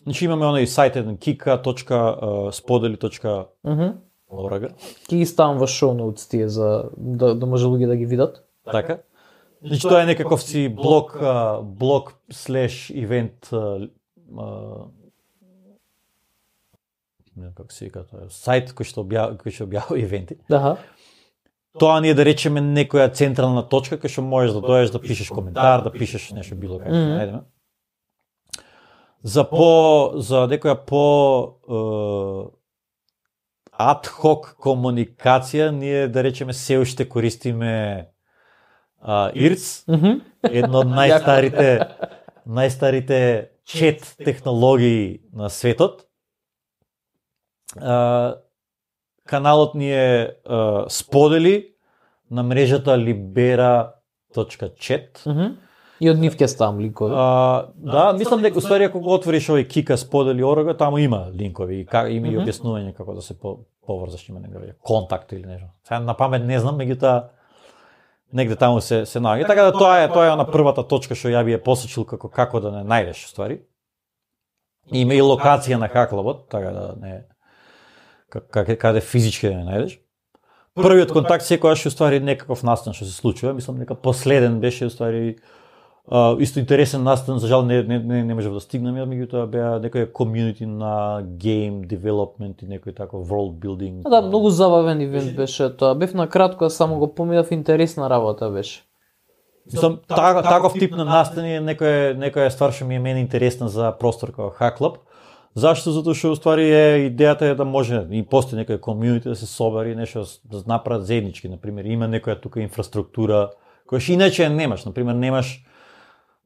значи имаме оној сајт еден kika точка spodeli точка org. Ки ги ставам во шоу ноутс тие за да, да може луѓе да ги видат. Така. Значи тоа е некаков си блог uh, блог слеш ивент uh, uh, не како се вика тоа, сајт кој што објавува кој што објавува ивенти. Аха. Тоа ни е да речеме некоја централна точка кај што можеш да дојдеш да пишеш коментар, да пишеш нешто било како Мгм. најдеме. За по за некоја по е, ад хок комуникација ние да речеме се уште користиме а, I R C, Мгм. едно од најстарите најстарите чет технологии на светот. А, каналот ни е а, сподели на мрежата libera точка chat. Мгм. И од нив ќе ставам линкови. А, да, мислам дека уствари ако го отвориш овој Kika сподели орга, таму има линкови и ка, има и Мгм. објаснување како да се по, поврзаш, има некој контакт или нешто. Сега на памет не знам, меѓутоа негде таму се се наоѓа. Така да тоа е тоа е на првата точка што ја би ја посочил како како да не најдеш ствари. Има и локација на Hack Lab, така да не каде каде физички да не најдеш. Првиот контакт секогаш уствари некаков настан што се случува, мислам дека последен беше уствари Uh, исто интересен настан, за жал не не не, не можев да стигнам, меѓутоа беа некој комјунити на game development и некој таков world building. Да, многу забавен ивент беше тоа. Бев на кратко, а само го поминав, интересна работа беше. Мислам, та, таков тип на настани е некоја некоја ствар што ми е мене интересна за простор како Hack Lab. Зашто? Затоа што уствари е идејата е да може и постои некој комјунити да се собери нешто да направат заеднички, на пример, има некоја тука инфраструктура која што иначе немаш, на пример, немаш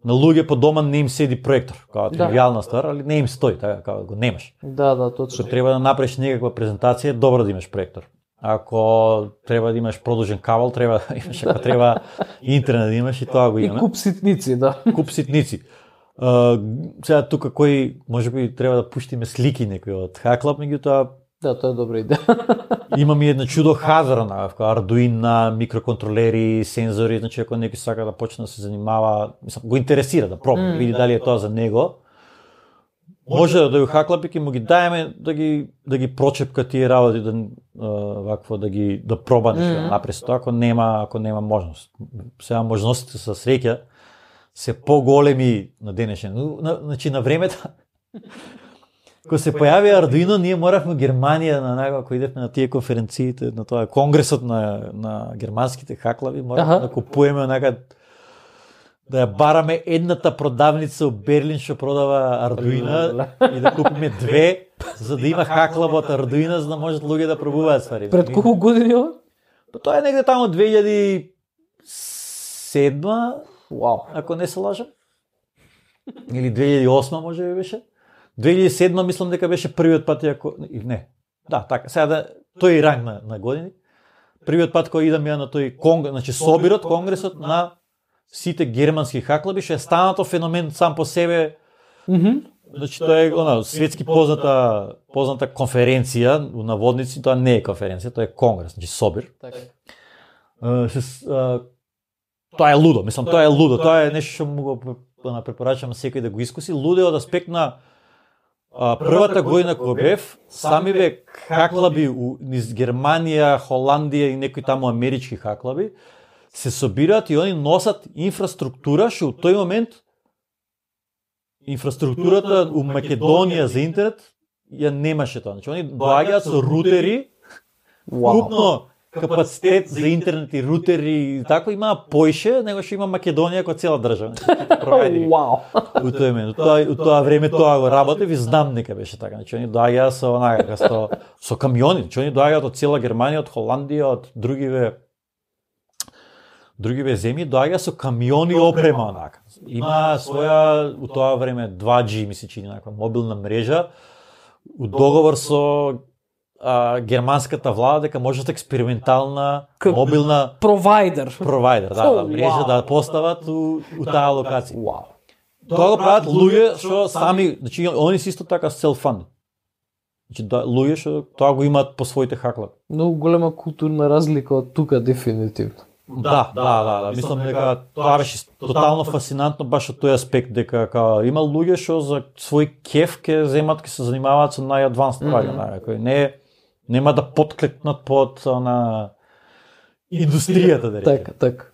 на луѓе по дома не им седи проектор, како Да. тривијална ствар, али не им стои, така како го немаш. Да, да, точно. Ако треба да направиш некаква презентација, е добро да имаш проектор. Ако треба да имаш продолжен кабел, треба да имаш, ако треба интернет да имаш и тоа го И имаме. куп ситници, да. Куп ситници. Uh, сега тука кој можеби треба да пуштиме слики некои од Hack Lab, меѓутоа Да, тоа е добра идеја. имам и една чудо хардвер на Arduino, микроконтролери, сензори, значи ако некој сака да почне да се занимава, мислам, го интересира да проба, Mm. види дали е тоа за него. Може да дојде Hack Lab и ќе му ги даеме да ги да ги прочепка тие работи, да а, вакво да ги да проба нешто Mm. да направи со тоа, ако нема ако нема можност. Сега можностите со среќа се поголеми на денешен. Ну, на, значи на времето кога се појави Ардуино, ние моравме Германија на некако кога идевме на тие конференциите, на тоа конгресот на на германските хаклави, моравме да купуваме некад да ја бараме едната продавница од Берлин што продава Ардуино и да купиме две, за да има хаклава од Ардуино, за да можат луѓе да пробуваат ствари. Пред колку години ова? Па тоа е негде таму две илјади и седма, Вау. ако не се лажам. Или две илјади и осма може би беше. две илјади и седма мислам дека беше првиот пат ако не. Да, така. Сега да тој ранг на, на години. Првиот пат кога идам ја на тој конгрес, значи собирот, конгресот на сите германски хаклаби, што е станато феномен сам по себе. Mhm. Mm Значи тоа е она светски позната позната конференција, на водници, тоа не е конференција, тоа е конгрес, значи собир. Така. Uh, се, uh, тоа е лудо, мислам, тоа е лудо, тоа е нешто што му го препорачам секој да го искуси. Лудо е од аспект на а, првата година кога бев, самиве хаклаби низ Германија, Холандија и некои таму амерички хаклаби се собираат и они носат инфраструктура што у тој момент инфраструктурата у Македонија за интернет ја немаше тоа. Значи они доаѓаат со рутери, крупно капацитет за интернет и рутери и тако има поише него што има Македонија која цела држава. Вау. У тој момент, тоа у тоа време тоа го работев и знам дека беше така. Значи они доаѓаат со онака со со камиони, значи они доаѓаат од цела Германија, од Холандија, од другиве другиве земји, доаѓаат со камиони опрема онака. Има своја у тоа време два джи ми се чини некаква мобилна мрежа у договор со а, германската влада дека можат експериментална мобилна Провайдер. провайдер, да, да, мрежа да постават у, у таа локација. Вау. Тоа го прават луѓе што сами, значи они се исто така self-fund. Значи да, луѓе што тоа го имаат по своите хаклаби. Многу голема културна разлика од тука дефинитивно. Да, да, да, да, мислам дека тоа беше тотално фасцинантно баш од тој аспект дека ка, има луѓе што за свој кеф ќе земат, ќе се занимаваат со најадванс ствари, mm -hmm. кои не нема да потклекнат под на индустријата да речеме. Така, така.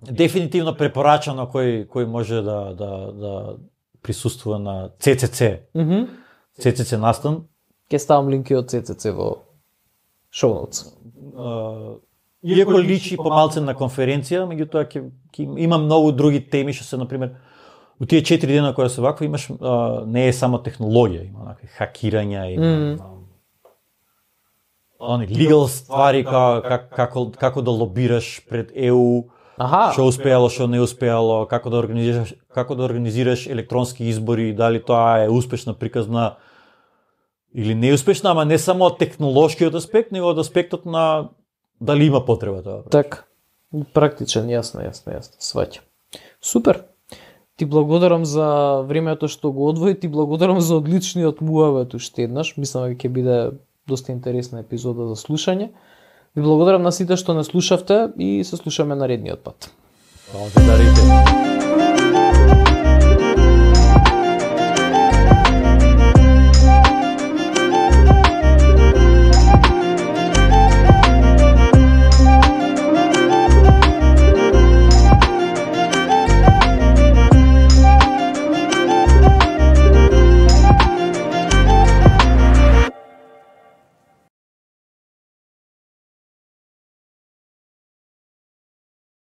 Дефинитивно препорачано кој кој може да да да присуствува на Це Це Це. Mhm. Mm Це Це Це настан. Ќе ставам линки од Це Це Це во шоу ноутс. Иако личи помалце на конференција, меѓутоа ќе ќе има многу други теми што се на пример у тие четири дена кои се вакво имаш а, не е само технологија, има некакви хакирања, има mm. они legal ствари како како како да лобираш пред Е У. Аха. Што успеало, што не успеало, како да организираш како да организираш електронски избори, дали тоа е успешна приказна или неуспешна, ама не само од технолошкиот аспект, него од аспектот на дали има потреба тоа. Така. Практичен, јасно, јасно, јасно. Сваќам. Супер. Ти благодарам за времето што го одвои, ти благодарам за одличниот муавет уште еднаш. Мислам дека ќе биде доста интересна епизода за слушање. Ви благодарам на сите што не слушавте и се слушаме наредниот пат. Благодарите.